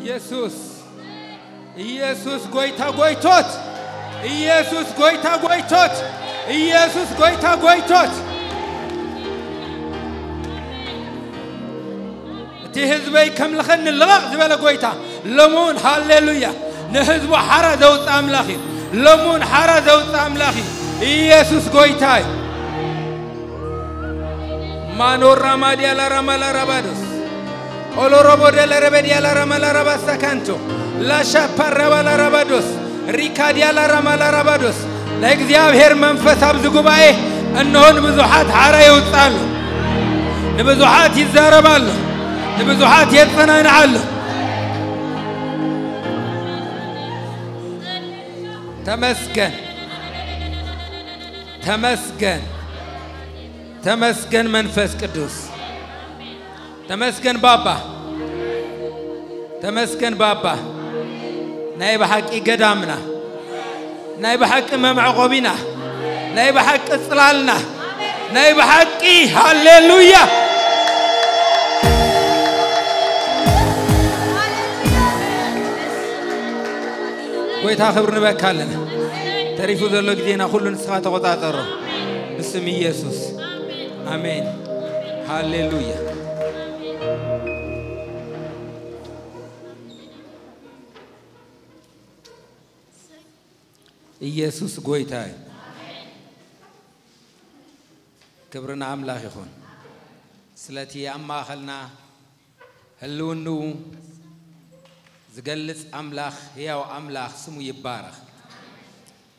ኢየሱስ ኢየሱስ ጎይታ ጎይቶት ኢየሱስ ጎይታ ጎይቶት ኢየሱስ ጎይታ ጎይቶት። እቲ ህዝበይ ከምልኸኒ ልቐቕ ዝበለ ጎይታ ሎሙን ሃሌሉያ ንህዝቡ ሓራ ዘውፅእ ኣምላኽ እዩ። ሎሙን ሓራ ዘውፅእ ኣምላኽ እዩ። ኢየሱስ ጎይታ እዩ። ማኖራ ማዲያ ላራማ ላራባዶስ ኦሎሮቦ ደለረበዲያ ላራማ ላራባ ሳካንቶ ላሻ ፓራባ ላራባዶስ ሪካዲያ ላራማ ላራባዶስ ናይ እግዚኣብሔር መንፈስ ኣብዚ ጉባኤ እንሆ ንብዙሓት ሓራ የውፅእ ኣሎ። ንብዙሓት ይዛረብ ኣሎ። ንብዙሓት የፀናንዕ ኣሎ። ተመስገን ተመስገን ተመስገን መንፈስ ቅዱስ ተመስገን ባባ ተመስገን ባባ ናይ ብሓቂ ገዳምና ናይ ብሓቂ መመዕቆቢና ናይ ብሓቂ ጽላልና ናይ ብሓቂ ሃሌሉያ። ጎይታ ክብሪ ንበካ ኣለና። ተሪፉ ዘሎ ግዜና ኩሉ ንስኻ ተቆጻጸሮ ብስም ኢየሱስ ኣሜን። ሃሌሉያ። ኢየሱስ ጎይታ እዩ። ክብሪ ንኣምላኽ ይኹን። ስለቲ ኣብ ማእኸልና ህልውንኡ ዝገልጽ ኣምላኽ፣ ህያው ኣምላኽ ስሙ ይባረኽ።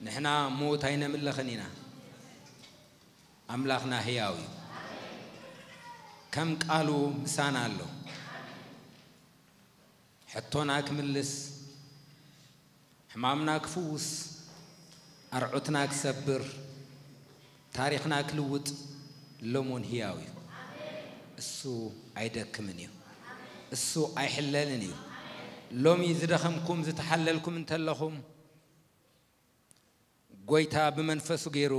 ንሕና ምዉት ኣይነምልኽን ኢና። ኣምላኽና ህያው እዩ። ከም ቃሉ ምሳና ኣሎ። ሕቶና ክምልስ፣ ሕማምና ክፍውስ፣ ኣርዑትና ክሰብር፣ ታሪኽና ክልውጥ ሎሞን ህያው እዩ። እሱ ኣይደክምን እዩ። እሱ ኣይሕለልን እዩ። ሎሚ ዝደኸምኩም፣ ዝተሓለልኩም እንተለኹም፣ ጎይታ ብመንፈሱ ገይሩ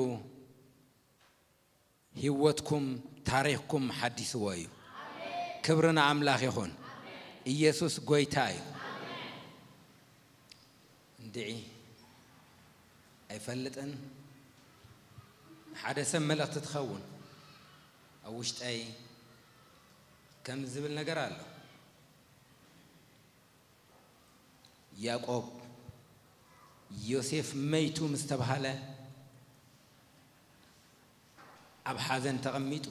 ህይወትኩም፣ ታሪኽኩም ሓዲስዎ እዩ። ክብሪ ንኣምላኽ ይኹን። ኢየሱስ ጎይታ እዩ። እንድዒ ኣይፈልጥን። ሓደ ሰብ መልእኽቲ ትኸውን ኣብ ውሽጠይ ከም ዝብል ነገር ኣሎ። ያዕቆብ ዮሴፍ መይቱ ምስ ተባህለ ኣብ ሓዘን ተቐሚጡ፣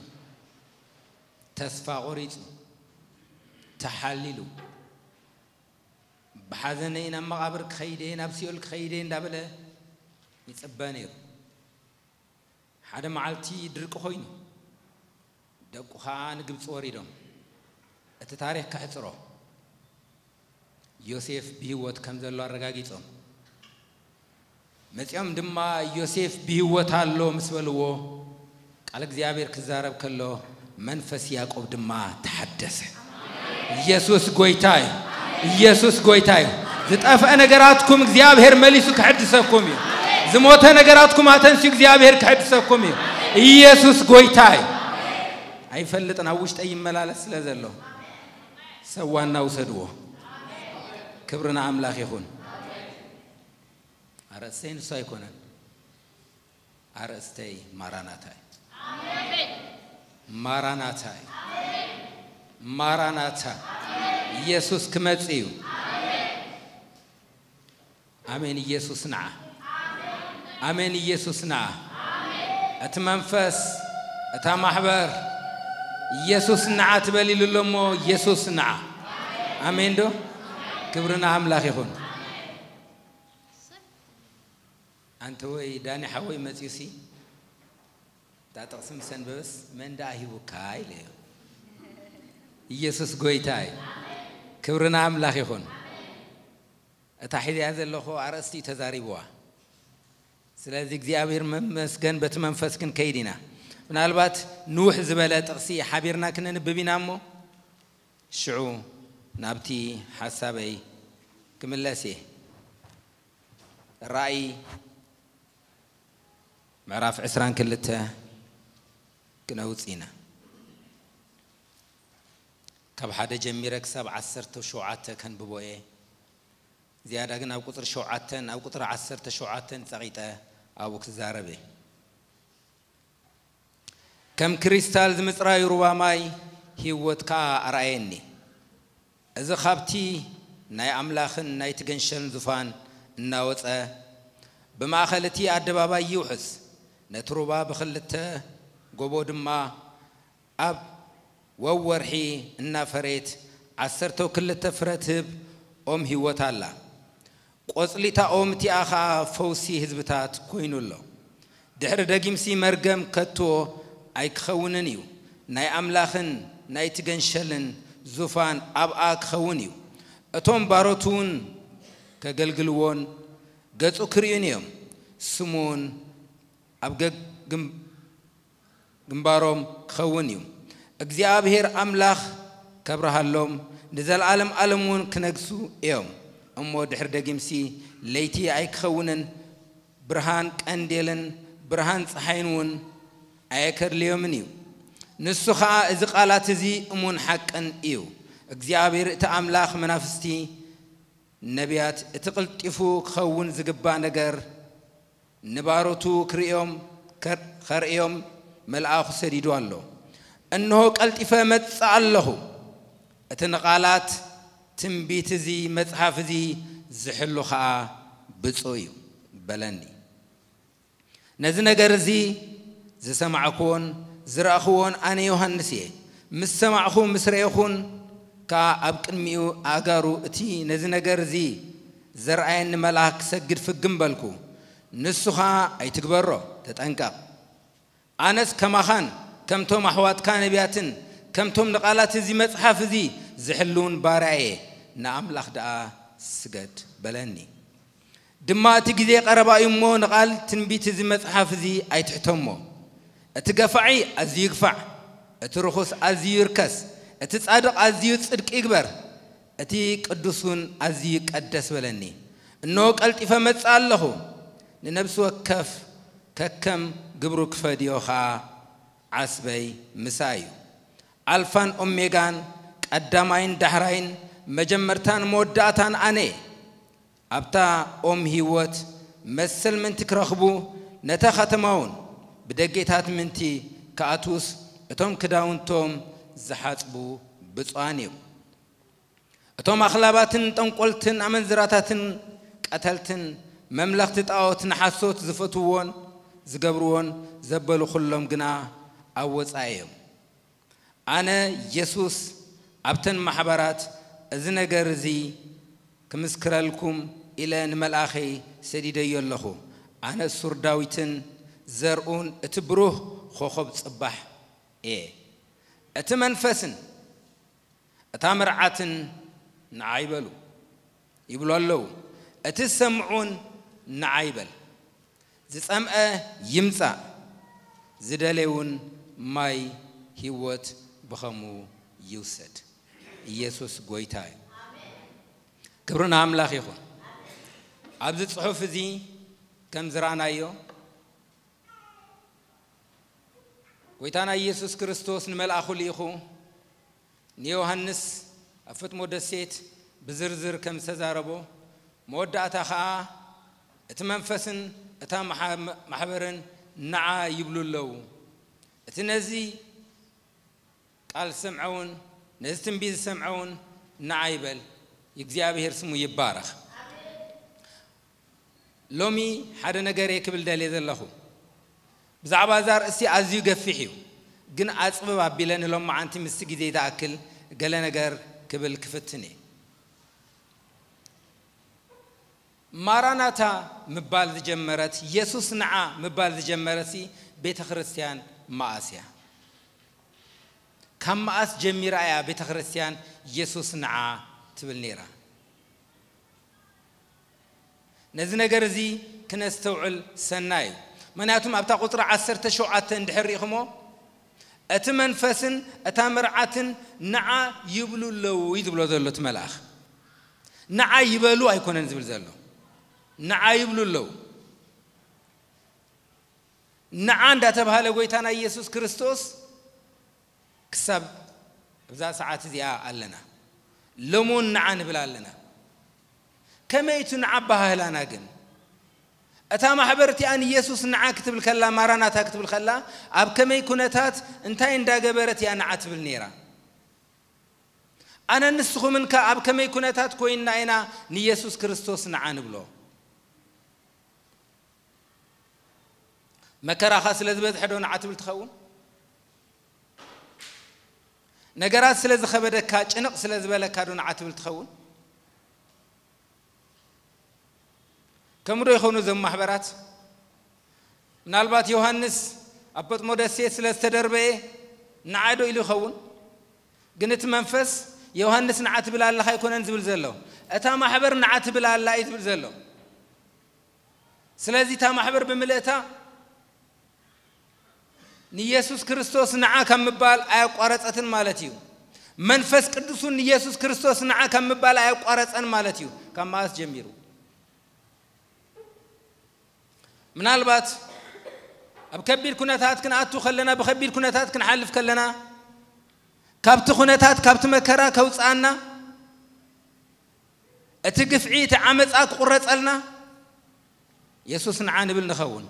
ተስፋ ቆሪጹ፣ ተሓሊሉ፣ ብሓዘነይ ናብ መቓብር ክኸይድ እየ፣ ናብ ሲኦል ክኸይድ እየ እንዳበለ ይጽበ ነይሩ። ሓደ መዓልቲ ድርቂ ኮይኑ፣ ደቁ ኸኣ ንግብጺ ወሪዶም፣ እቲ ታሪኽ ከሕጽሮ፣ ዮሴፍ ብህይወት ከም ዘሎ ኣረጋጊጾም። መጺኦም ድማ፣ "ዮሴፍ ብህይወት ኣሎ" ምስ በልዎ፣ ቃል እግዚኣብሔር ክዛረብ ከሎ፣ መንፈስ ያዕቆብ ድማ ተሓደሰ። ኢየሱስ ጎይታ እዩ። ኢየሱስ ጎይታ እዩ። ዝጠፍአ ነገራትኩም እግዚኣብሔር መሊሱ ክሕድሰኩም እዩ። ዝሞተ ነገራትኩም ኣተንስዩ እግዚኣብሔር ክሕድሰኩም እዩ። ኢየሱስ ጎይታ እዩ። ኣይፈልጥን፣ ኣብ ውሽጠይ ይመላለስ ስለ ዘሎ። ሰብ ዋና ውሰድዎ። ክብሪ ንኣምላኽ ይኹን። ኣርእስተይ ንሱ ኣይኮነን። ኣርእስተይ ማራናታ እዩ። ማራናታ እዩ። ማራናታ። ኢየሱስ ክመጽእ እዩ። ኣሜን። ኢየሱስ ንዓ። ኣሜን። ኢየሱስ ንዓ። እቲ መንፈስ፣ እታ ማሕበር፣ ኢየሱስ ንዓ ትበል ኢሉ ኣሎ እሞ፣ ኢየሱስ ንዓ። ኣሜን ዶ? ክብሪ ንኣምላኽ ይኹን። ኣንተ ወይ ዳኒ ሓወይ መጽዩሲ፣ እታ ጥቕሲ ምስ ኣንበበስ፣ "መን ደኣ ሂቡካ?" ኢለዮ። ኢየሱስ ጎይታ እዩ። ክብሪ ንኣምላኽ ይኹን። እታ ሒዘያ ዘለኹ ኣርእስቲ እዩ ተዛሪብዋ። ስለዚ እግዚኣብሔር መመስገን፣ በቲ መንፈስ ክንከይድ ኢና። ምናልባት ንውሕ ዝበለ ጥቕሲ ሓቢርና ክነንብብ ኢና እሞ፣ ሽዑ ናብቲ ሓሳበይ ክምለስ እየ። ራእይ ምዕራፍ ዕስራን ክልተ ክነውጽእ ኢና። ካብ ሓደ ጀሚረ ክሳብ ዓሰርተ ሸውዓተ ከንብቦ እየ። ዝያዳ ግን ኣብ ቁጽሪ ሸውዓተን ኣብ ቁጽሪ ዓሰርተ ሸውዓተን ጸቒጠ ኣብኡ ክዛረብ እየ። ከም ክሪስታል ዝምጽራዩ ሩባ ማይ ህይወት ከኣ ኣርኣየኒ። እዚ ኻብቲ ናይ ኣምላኽን ናይቲ ገንሸልን ዙፋን እናወጸ ብማእከል እቲ ኣደባባይ ይውሕዝ። ነቲ ሩባ ብኽልተ ጎቦ ድማ ኣብ ወወርሒ እናፈረየት ዓሰርተ ክልተ ፍረ ትህብ ኦም ህይወት ኣላ። ቆጽሊ እታ ኦም እቲኣ ኸኣ ፈውሲ ህዝብታት ኮይኑ ኣሎ። ድሕሪ ደጊምሲ መርገም ከቶ ኣይክኸውንን እዩ። ናይ ኣምላኽን ናይቲ ገንሸልን ዙፋን ኣብኣ ክኸውን እዩ። እቶም ባሮት እውን ከገልግልዎን ገጹ ክርእዩን እዮም። ስሙ እውን ኣብ ገግ-፣ ግም-፣ ግንባሮም ክኸውን እዩ። እግዚኣብሔር ኣምላኽ ከብርሃሎም፣ ንዘለዓለም ዓለም እውን ክነግሱ እዮም። እሞ ድሕሪ ደጊምሲ ለይቲ ኣይክኸውንን፣ ብርሃን ቀንዴልን ብርሃን ጸሓይን እውን ኣየከድልዮምን እዩ። ንሱ ኸኣ እዚ ቃላት እዚ እሙን ሓቅን እዩ። እግዚኣብሔር እቲ ኣምላኽ መናፍስቲ ነቢያት እቲ ቅልጢፉ ክኸውን ዝግባእ ነገር ንባሮቱ ክርእዮም፣ ከር-፣ ከርእዮም መልኣኹ ሰዲዱ ኣሎ። እንሆ ቀልጢፈ እመጽእ ኣለኹ። እቲ ንቓላት ትንቢት እዚ መጽሓፍ እዚ ዝሕሉ ኸኣ ብፁዕ እዩ በለኒ። ነዚ ነገር እዚ ዝሰማዕኩዎን ዝረኣኹዎን ኣነ ዮሃንስ እየ። ምስ ሰማዕኹ ምስ ረኤኹን ከኣ ኣብ ቅድሚኡ ኣእጋሩ እቲ ነዚ ነገር እዚ ዘርኣየኒ መልኣኽ ክሰግድ ፍግም በልኩ። ንሱ ኸኣ ኣይትግበሮ፣ ተጠንቀቕ። ኣነስ ከማኻን ከምቶም ኣሕዋትካ ነቢያትን ከምቶም ንቓላት እዚ መጽሓፍ እዚ ዝሕልውን ባርያ እየ። ንኣምላኽ ደኣ ስገድ በለኒ። ድማ እቲ ግዜ ቀረባ እዩ እሞ ንቓል ትንቢት እዚ መጽሓፍ እዚ ኣይትሕተሞ። እቲ ገፋዒ ኣዝዩ ይግፋዕ፣ እቲ ርኹስ ኣዝዩ ይርከስ፣ እቲ ጻድቕ ኣዝዩ ጽድቂ ይግበር፣ እቲ ቅዱስ እውን ኣዝዩ ይቀደስ በለኒ። እንሆ ቀልጢፈ መጽእ ኣለኹ፣ ንነብሲ ወከፍ ከከም ግብሩ ክፈድዮ ኸኣ ዓስበይ ምሳይ እዩ። ኣልፋን ኦሜጋን፣ ቀዳማይን ዳሕራይን፣ መጀመርታን መወዳእታን ኣነ እየ። ኣብታ ኦም ህይወት መሰል ምእንቲ ክረኽቡ፣ ነታ ኸተማ እውን ብደጌታት ምእንቲ ክኣትዉስ፣ እቶም ክዳውንቶም ዝሓጽቡ ብፁዓን እዮም። እቶም ኣኽላባትን ጠንቆልትን ኣመንዝራታትን ቀተልትን መምለኽቲ ጣዖት ንሓሶት ዝፈትውዎን ዝገብርዎን ዘበሉ ኹሎም ግና ኣብ ወጻኢ እዮም። ኣነ የሱስ ኣብተን ማሕበራት እዚ ነገር እዚ ክምስክረልኩም ኢለ ንመልኣኸይ ሰዲደዮ ኣለኹ። ኣነ ሱር ዳዊትን ዘርኡን እቲ ብሩህ ኾኾብ ጽባሕ እየ። እቲ መንፈስን እታ መርዓትን ንዓ ይበሉ ይብሉ ኣለዉ። እቲ ዝሰምዑን ንዓ ይበል። ዝጸምአ ይምጻእ፣ ዝደለየ እውን ማይ ህይወት ብኸሙ ይውሰድ። ኢየሱስ ጎይታ እዩ። ክብሪ ንኣምላኽ ይኹን። ኣብዚ ጽሑፍ እዚ ከም ዝረኣናዮ ጎይታና ኢየሱስ ክርስቶስ ንመልኣኹ ልኢኹ ንዮሃንስ ኣብ ፈጥሞ ደሴት ብዝርዝር ከም ዝተዛረቦ፣ መወዳእታ ኸኣ እቲ መንፈስን እታ መሓ-፣ ማሕበርን ንዓ ይብሉ ኣለዉ። እቲ ነዚ ቃል ዝሰምዐ እውን፣ ነዚ ትንቢት ዝሰምዐ እውን ንዓ ይበል። እግዚኣብሔር ስሙ ይባረኽ። ሎሚ ሓደ ነገር እየ ክብል ደልየ ዘለኹ። ብዛዕባ እዛ ኣርእስቲ ኣዝዩ ገፊሕ እዩ፣ ግን ኣጽብብ ኣቢለ ንሎማዓንቲ ምስቲ ግዜ ዝኣክል ገለ ነገር ክብል ክፍትን እየ። ማራናታ ምባል ዝጀመረት፣ የሱስ ንዓ ምባል ዝጀመረትሲ ቤተ ክርስቲያን መኣስ እያ? ካብ መኣስ ጀሚራ እያ ቤተ ክርስቲያን የሱስ ንዓ ትብል ነይራ? ነዚ ነገር እዚ ክነስተውዕል ሰናይ እዩ። ምኽንያቱም ኣብታ ቁጽሪ ዓሰርተ ሸውዓተ እንድሕር ርኢኹሞ፣ እቲ መንፈስን እታ መርዓትን ንዓ ይብሉ ኣለዉ እዩ ዝብሎ ዘሎ እቲ መልኣኽ። ንዓ ይበሉ ኣይኮነን ዝብል ዘሎ። ንዓ ይብሉ ኣለዉ። ንዓ እንዳተባሃለ ጎይታና ኢየሱስ ክርስቶስ ክሳብ ኣብዛ ሰዓት እዚኣ ኣለና። ሎሙን ንዓ ንብል ኣለና። ከመይ እቲ ንዓ ኣበሃህላና ግን? እታ ማሕበር እቲኣ ንየሱስ ንዓ ክትብል ከላ፣ ማራናታ ክትብል ከላ፣ ኣብ ከመይ ኩነታት እንታይ እንዳገበረት እያ ንዓ ትብል ነይራ? ኣነን ንስኹምን ከ ኣብ ከመይ ኩነታት ኮይንና ኢና ንየሱስ ክርስቶስ ንዓ ንብሎ? መከራኻ ስለ ዝበዝሐ ዶ ንዓ ትብል ትኸውን? ነገራት ስለ ዝኸበደካ፣ ጭንቕ ስለ ዝበለካ ዶ ንዓ ትብል ትኸውን? ከምኡ ዶ ይኾኑ እዞም ማሕበራት? ምናልባት ዮሃንስ ኣብ ጳጥሞ ደሴት ስለ ዝተደርበየ ንዓ ዶ ኢሉ ይኸውን? ግን እቲ መንፈስ ዮሃንስ ንዓ ትብል ኣለኻ ኣይኮነን ዝብል ዘሎ። እታ ማሕበር ንዓ ትብል ኣላ እዩ ዝብል ዘሎ። ስለዚ እታ ማሕበር ብምልእታ ንየሱስ ክርስቶስ ንዓ ካብ ምባል ኣያቋረጸትን ማለት እዩ። መንፈስ ቅዱስ እውን ንየሱስ ክርስቶስ ንዓ ካብ ምባል ኣያቋረጸን ማለት እዩ። ካብ መኣስ ጀሚሩ? ምናልባት ኣብ ከቢድ ኩነታት ክንኣቱ ከለና፣ ብከቢድ ኩነታት ክንሓልፍ ከለና፣ ካብቲ ኩነታት፣ ካብቲ መከራ ከውጽኣና፣ እቲ ግፍዒ፣ እቲ ዓመጻ ክቑረጸልና፣ የሱስ ንዓ ንብል ንኸውን።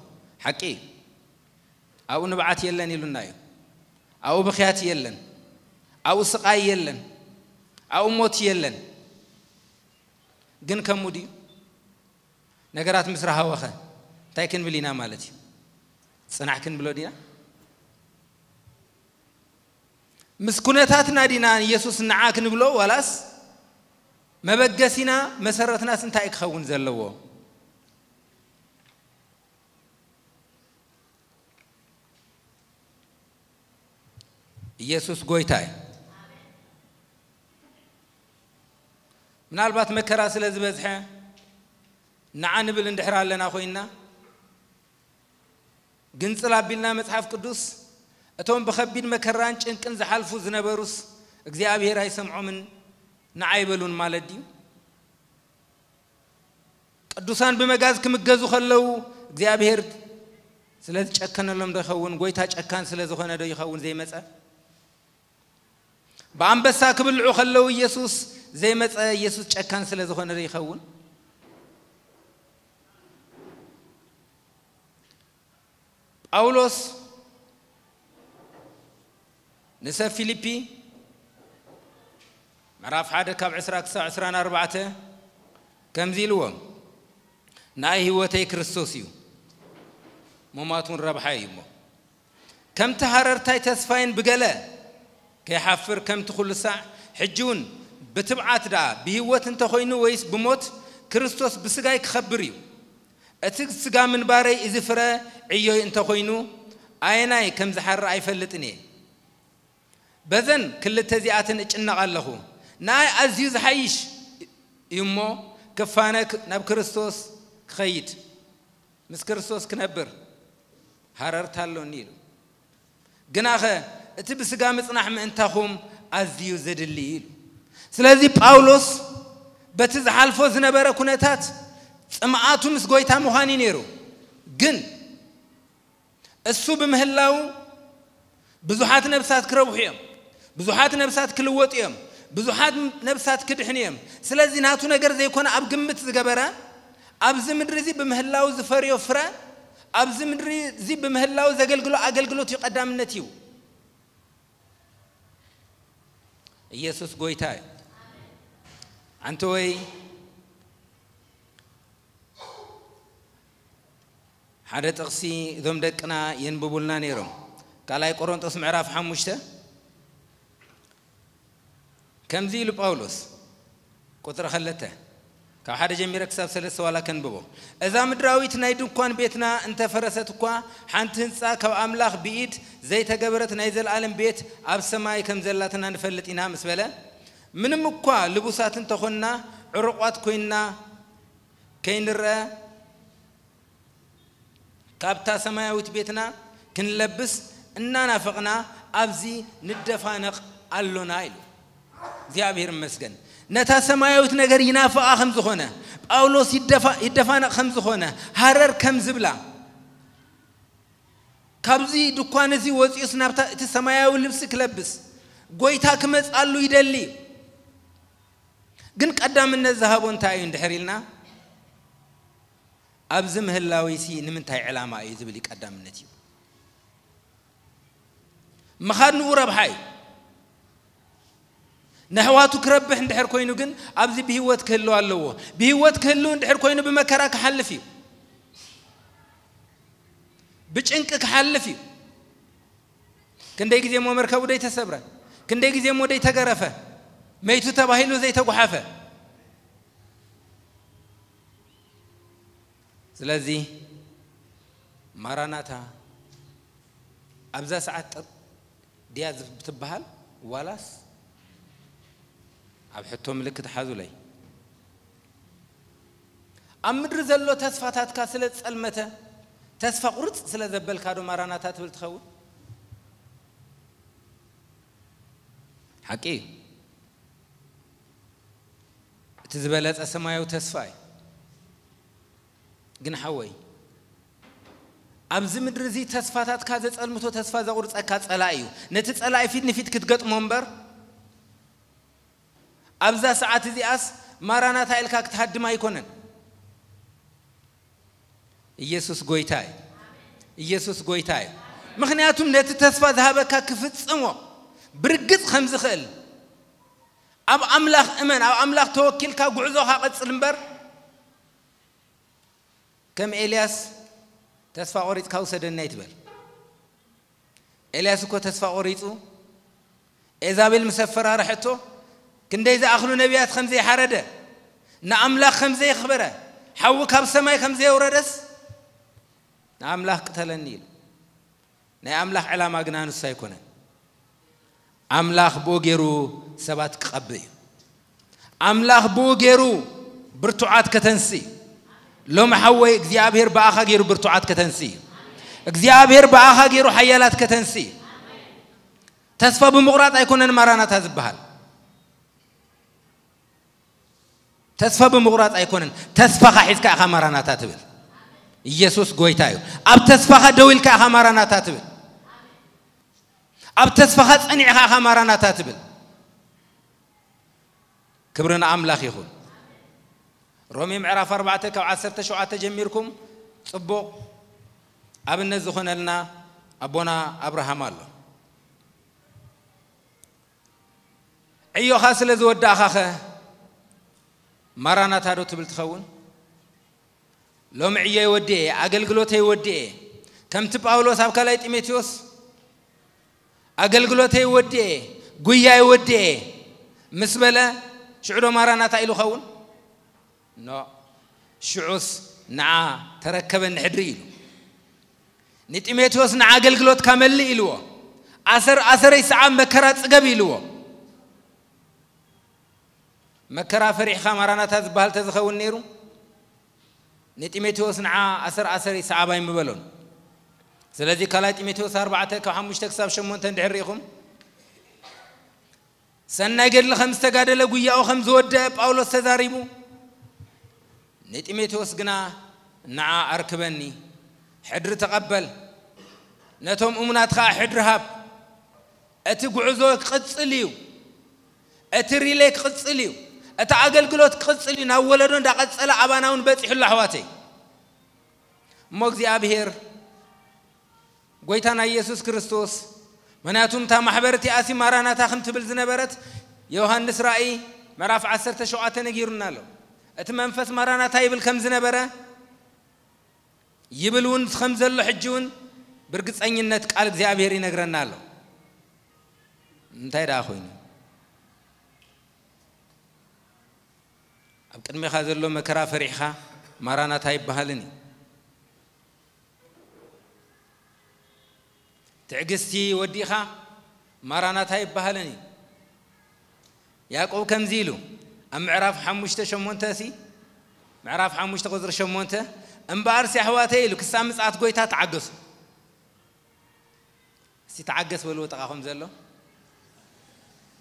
ሓቂ እዩ። ኣብኡ ንብዓት የለን ኢሉና እዩ። ኣብኡ ብኽያት የለን። ኣብኡ ስቓይ የለን። ኣብኡ ሞት የለን። ግን ከምኡ ድዩ? ነገራት ምስ ረሃወኸ እንታይ ክንብል ኢና ማለት እዩ? ጽናሕ ክንብሎ ዲና? ምስ ኩነታትና ዲና ንየሱስ ንዓ ክንብሎ፣ ዋላስ መበገሲና፣ መሰረትናስ እንታይ ክኸውን ዘለዎ? ኢየሱስ ጎይታ እዩ። ምናልባት መከራ ስለ ዝበዝሐ ንዓ ንብል እንድሕር ኣለና ኮይንና፣ ግንጽል ኣቢልና መጽሓፍ ቅዱስ፣ እቶም ብኸቢድ መከራን ጭንቅን ዝሓልፉ ዝነበሩስ እግዚኣብሔር ኣይሰምዖምን ንዓ ኣይበሉን ማለት ድዩ? ቅዱሳን ብመጋዝ ክምገዙ ከለዉ እግዚኣብሔር ስለ ዝጨከነሎም ዶ ይኸውን? ጎይታ ጨካን ስለ ዝኾነ ዶ ይኸውን ዘይመጸ? ብኣንበሳ ክብልዑ ከለዉ ኢየሱስ ዘይመጸ፣ ኢየሱስ ጨካን ስለ ዝኾነ ዶ ይኸውን? ጳውሎስ ንሰብ ፊልፒ ምዕራፍ ሓደ ካብ ዕስራ ክሳብ ዕስራን ኣርባዕተ ከምዚ ኢልዎም፣ "ናይ ህይወተይ ክርስቶስ እዩ፣ ምሟት እውን ረብሓ እዩ እሞ፣ ከምቲ ሃረርታይ ተስፋይን ብገለ ከይሓፍር ከምቲ ኩሉ ሳዕ፣ ሕጂ እውን ብትብዓት ደኣ ብህይወት እንተኾይኑ ወይስ ብሞት፣ ክርስቶስ ብስጋይ ክኸብር እዩ። እቲ ስጋ ምንባረይ እዚ ፍረ ዕዮይ እንተኾይኑ፣ ኣየናይ ከም ዝሓሪ ኣይፈልጥን እየ። በዘን ክልተ እዚኣተን እጭነቕ ኣለኹ። ንኣይ ኣዝዩ ዝሓይሽ እዩ እሞ፣ ክፋነ ክ-፣ ናብ ክርስቶስ ክኸይድ፣ ምስ ክርስቶስ ክነብር ሃረርታ ኣሎኒ" ኢሉ። ግናኸ እቲ ብስጋ ምጽናሕ ምእንታኹም ኣዝዩ ዘድሊ እዩ ኢሉ። ስለዚ ጳውሎስ በቲ ዝሓልፎ ዝነበረ ኩነታት ጽምኣቱ ምስ ጎይታ ምዃን እዩ ነይሩ። ግን እሱ ብምህላው ብዙሓት ነብሳት ክረብሑ እዮም። ብዙሓት ነብሳት ክልወጡ እዮም። ብዙሓት ነብሳት ክድሕኑ እዮም። ስለዚ ናቱ ነገር ዘይኮነ ኣብ ግምት ዝገበረ፣ ኣብዚ ምድሪ እዚ ብምህላው ዝፈርዮ ፍረ፣ ኣብዚ ምድሪ እዚ ብምህላው ዘገልግሎ ኣገልግሎት እዩ ቀዳምነት እዩ። ኢየሱስ ጎይታ እዩ። ኣንተ ወይ ሓደ ጥቕሲ እዞም ደቅና የንብቡልና ነይሮም። ካልኣይ ቆሮንጦስ ምዕራፍ ሓሙሽተ ከምዚ ኢሉ ጳውሎስ፣ ቁጽሪ ክልተ፣ ካብ ሓደ ጀሚረ ክሳብ ሰለስተ ዋላ ከንብቦ። "እዛ ምድራዊት ናይ ድንኳን ቤትና እንተፈረሰት እኳ፣ ሓንቲ ህንጻ ካብ ኣምላኽ ብኢድ ዘይተገበረት ናይ ዘለኣለም ቤት ኣብ ሰማይ ከም ዘላትና ንፈልጥ ኢና" ምስ በለ፣ ምንም እኳ ልቡሳት እንተኾንና፣ ዕሩቋት ኮይንና ከይንረአ፣ ካብታ ሰማያዊት ቤትና ክንለብስ እናናፈቕና ኣብዚ ንደፋነቕ ኣሎና ኢሉ። እግዚኣብሔር ይመስገን። ነታ ሰማያዊት ነገር ይናፍቓ ከም ዝኾነ፣ ጳውሎስ ይደፋ-፣ ይደፋነቕ ከም ዝኾነ፣ ሃረር ከም ዝብላ፣ ካብዚ ድኳን እዚ ወፂኡስ ናብታ እቲ ሰማያዊ ልብሲ ክለብስ፣ ጎይታ ክመጻሉ ይደሊ እዩ። ግን ቀዳምነት ዝሃቦ እንታይ እዩ እንድሕር ኢልና፣ ኣብዚ ምህላዊሲ ንምንታይ ዕላማ እዩ ዝብል እዩ ቀዳምነት እዩ። ምኻድ ንኡ ረብሓ እዩ። ነሕዋቱ ክረብሕ እንድሕር ኮይኑ ግን ኣብዚ ብህይወት ክህልው ኣለዎ። ብህይወት ክህልው እንድሕር ኮይኑ ብመከራ ክሓልፍ እዩ። ብጭንቂ ክሓልፍ እዩ። ክንደይ ግዜ እሞ መርከቡ ዘይተሰብረ፣ ክንደይ ግዜ እሞ ዘይተገረፈ፣ መይቱ ተባሂሉ ዘይተጓሓፈ። ስለዚ ማራናታ ኣብዛ ሰዓት ጥር ድያ ብትበሃል ዋላስ ኣብ ሕቶ ምልክት ሓዙለይ። ኣብ ምድሪ ዘሎ ተስፋታትካ ስለ ዝጸልመተ፣ ተስፋ ቁርጽ ስለ ዘበልካ ዶ ማራናታ ትብል ትኸውን? ሓቂ እዩ። እቲ ዝበለጸ ሰማያዊ ተስፋ እዩ። ግን ሓወይ፣ ኣብዚ ምድሪ እዚ ተስፋታትካ ዘጸልምቶ፣ ተስፋ ዘቑርጸካ ጸላኢ እዩ። ነቲ ጸላኢ ፊት ንፊት ክትገጥሞ እምበር፣ ኣብዛ ሰዓት እዚኣስ ማራናታ ኢልካ ክትሃድም ኣይኮነን። ኢየሱስ ጎይታ እዩ። ኢየሱስ ጎይታ እዩ። ምኽንያቱም ነቲ ተስፋ ዝሃበካ ክፍጽሞ ብርግጽ ከም ዝኽእል፣ ኣብ ኣምላኽ እመን፣ ኣብ ኣምላኽ ተወኪልካ ጉዕዞኻ ቀጽል እምበር፣ ከም ኤልያስ ተስፋ ቆሪጽካ ውሰደኒ ኣይትበል። ኤልያስ እኮ ተስፋ ቆሪጹ፣ ኤዛቤል ምስ ኣፈራርሐቶ፣ ክንደይ ዝኣኽሉ ነቢያት ከም ዘይሓረደ፣ ንኣምላኽ ከም ዘየኽበረ፣ ሓዊ ካብ ሰማይ ከም ዘየውረደስ፣ ንኣምላኽ ቅተለኒ ኢሉ። ናይ ኣምላኽ ዕላማ ግና ንሱ ኣይኮነን። ኣምላኽ ብኡ ገይሩ ሰባት ክቐብእ እዩ። ኣምላኽ ብኡ ገይሩ ብርቱዓት ከተንሲ እዩ። ሎሚ ሓወይ እግዚኣብሔር ብኣኻ ገይሩ ብርቱዓት ከተንሲ እዩ። እግዚኣብሔር ብኣኻ ገይሩ ሓያላት ከተንሲ እዩ። ተስፋ ብምቑራጽ ኣይኮነን ማራናታ ዝበሃል። ተስፋ ብምቑራጽ ኣይኮነን። ተስፋኻ ሒዝካ ኢኻ ማራናታ ትብል። ኢየሱስ ጎይታ እዩ። ኣብ ተስፋኻ ደው ኢልካ ኢኻ ማራናታ ትብል። ኣብ ተስፋኻ ጸኒዕኻ ኢኻ ማራናታ ትብል። ክብሪ ንኣምላኽ ይኹን። ሮሜ ምዕራፍ ኣርባዕተ ካብ ዓሰርተ ሸውዓተ ጀሚርኩም ጽቡቕ ኣብነት ዝኾነልና ኣቦና ኣብርሃም ኣሎ። ዕዮኻ ስለ ዝወዳእኻኸ ማራናታ ዶ ትብል ትኸውን? ሎሚ ዕዮይ ወዲኤ፣ ኣገልግሎተይ ወዲኤ፣ ከምቲ ጳውሎስ ኣብ ካልኣይ ጢሞቴዎስ ኣገልግሎተይ ወዲኤ፣ ጉያይ ወዲኤ ምስ በለ፣ ሽዑ ዶ ማራናታ ኢሉ ኸውን? ኖ። ሽዑስ ንዓ ተረከበኒ ሕድሪ ኢሉ። ንጢሞቴዎስ ንዓ ኣገልግሎትካ መልእ ኢልዎ። ኣሰር ኣሰረይ ሰዓብ መከራ ጽገብ ኢልዎ። መከራ ፈሪሕኻ ማራናታ ዝበሃል ተዝኸውን ነይሩ፣ ንጢሞቴዎስ ንዓ ኣሰር ኣሰረይ ሰዓባይ ምበሎን። ስለዚ ካልኣይ ጢሞቴዎስ ኣርባዕተ ካብ ሓሙሽተ ክሳብ ሸሞንተ እንድሕር ርኢኹም፣ ሰናይ ገድሊ ከም ዝተጋደለ፣ ጉያኡ ከም ዝወደአ ጳውሎስ ተዛሪቡ፣ ንጢሞቴዎስ ግና ንዓ ኣርክበኒ፣ ሕድሪ ተቐበል፣ ነቶም እሙናት ኸኣ ሕድሪ ሃብ። እቲ ጉዕዞ ክቕጽል እዩ። እቲ ሪሌ ክቕጽል እዩ። እቲ ኣገልግሎት ክቕጽል እዩ። ናብ ወለዶ እንዳቐጸለ ኣባና እውን በጺሑ ኣሎ ኣሕዋተይ። እሞ እግዚኣብሔር ጎይታና ኢየሱስ ክርስቶስ፣ ምኽንያቱም እታ ማሕበር እቲኣሲ ማራናታ ከም ትብል ዝነበረት ዮሃንስ ራእይ ምዕራፍ ዓሰርተ ሸውዓተ ነጊሩና ኣሎ። እቲ መንፈስ ማራናታ ይብል ከም ዝነበረ ይብል እውን ከም ዘሎ ሕጂ እውን ብርግጸኝነት ቃል እግዚኣብሔር ይነግረና ኣሎ። እንታይ ደኣ ኮይኑ? ኣብ ቅድሜኻ ዘሎ መከራ ፈሪሕኻ ማራናታ ኣይበሃልን እዩ። ትዕግስቲ ወዲእኻ ማራናታ ኣይበሃልን እዩ። ያዕቆብ ከምዚ ኢሉ ኣብ ምዕራፍ ሓሙሽተ ሸሞንተ ሲ፣ ምዕራፍ ሓሙሽተ ቁጽሪ ሸሞንተ፣ "እምበኣርሲ ኣሕዋተይ" ኢሉ፣ "ክሳብ ምጽኣት ጐይታ ተዓገሱ።" እስቲ ተዓገስ በልዎ ጥቓኹም ዘሎ።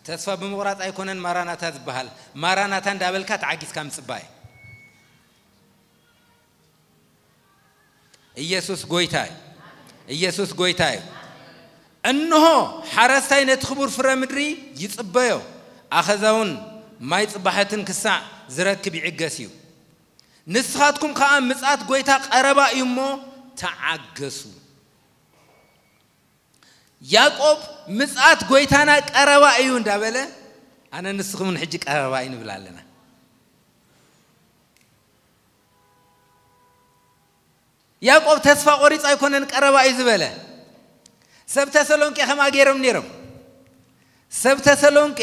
ተስፋ ብምቑራጽ ኣይኮነን ማራናታ ዝበሃል። ማራናታ እንዳበልካ ተዓጊስካ ምጽባይ። ኢየሱስ ጎይታ እዩ። ኢየሱስ ጎይታ እዩ። እንሆ፣ ሓረስታይ ነቲ ክቡር ፍረ ምድሪ ይጽበዮ፣ ኣኸዛውን ማይ ጽባሐትን ክሳዕ ዝረክብ ይዕገስ እዩ። ንስኻትኩም ከኣ ምጽኣት ጐይታ ቀረባ እዩ እሞ ተዓገሱ። ያዕቆብ ምጽኣት ጐይታና ቀረባ እዩ እንዳበለ፣ ኣነ ንስኹምን ሕጂ ቀረባ እዩ ንብል ኣለና። ያዕቆብ ተስፋ ቆሪጹ ኣይኮነን ቀረባ እዩ ዝበለ። ሰብ ተሰሎንቄ ከምኣ ገይሮም ነይሮም። ሰብ ተሰሎንቄ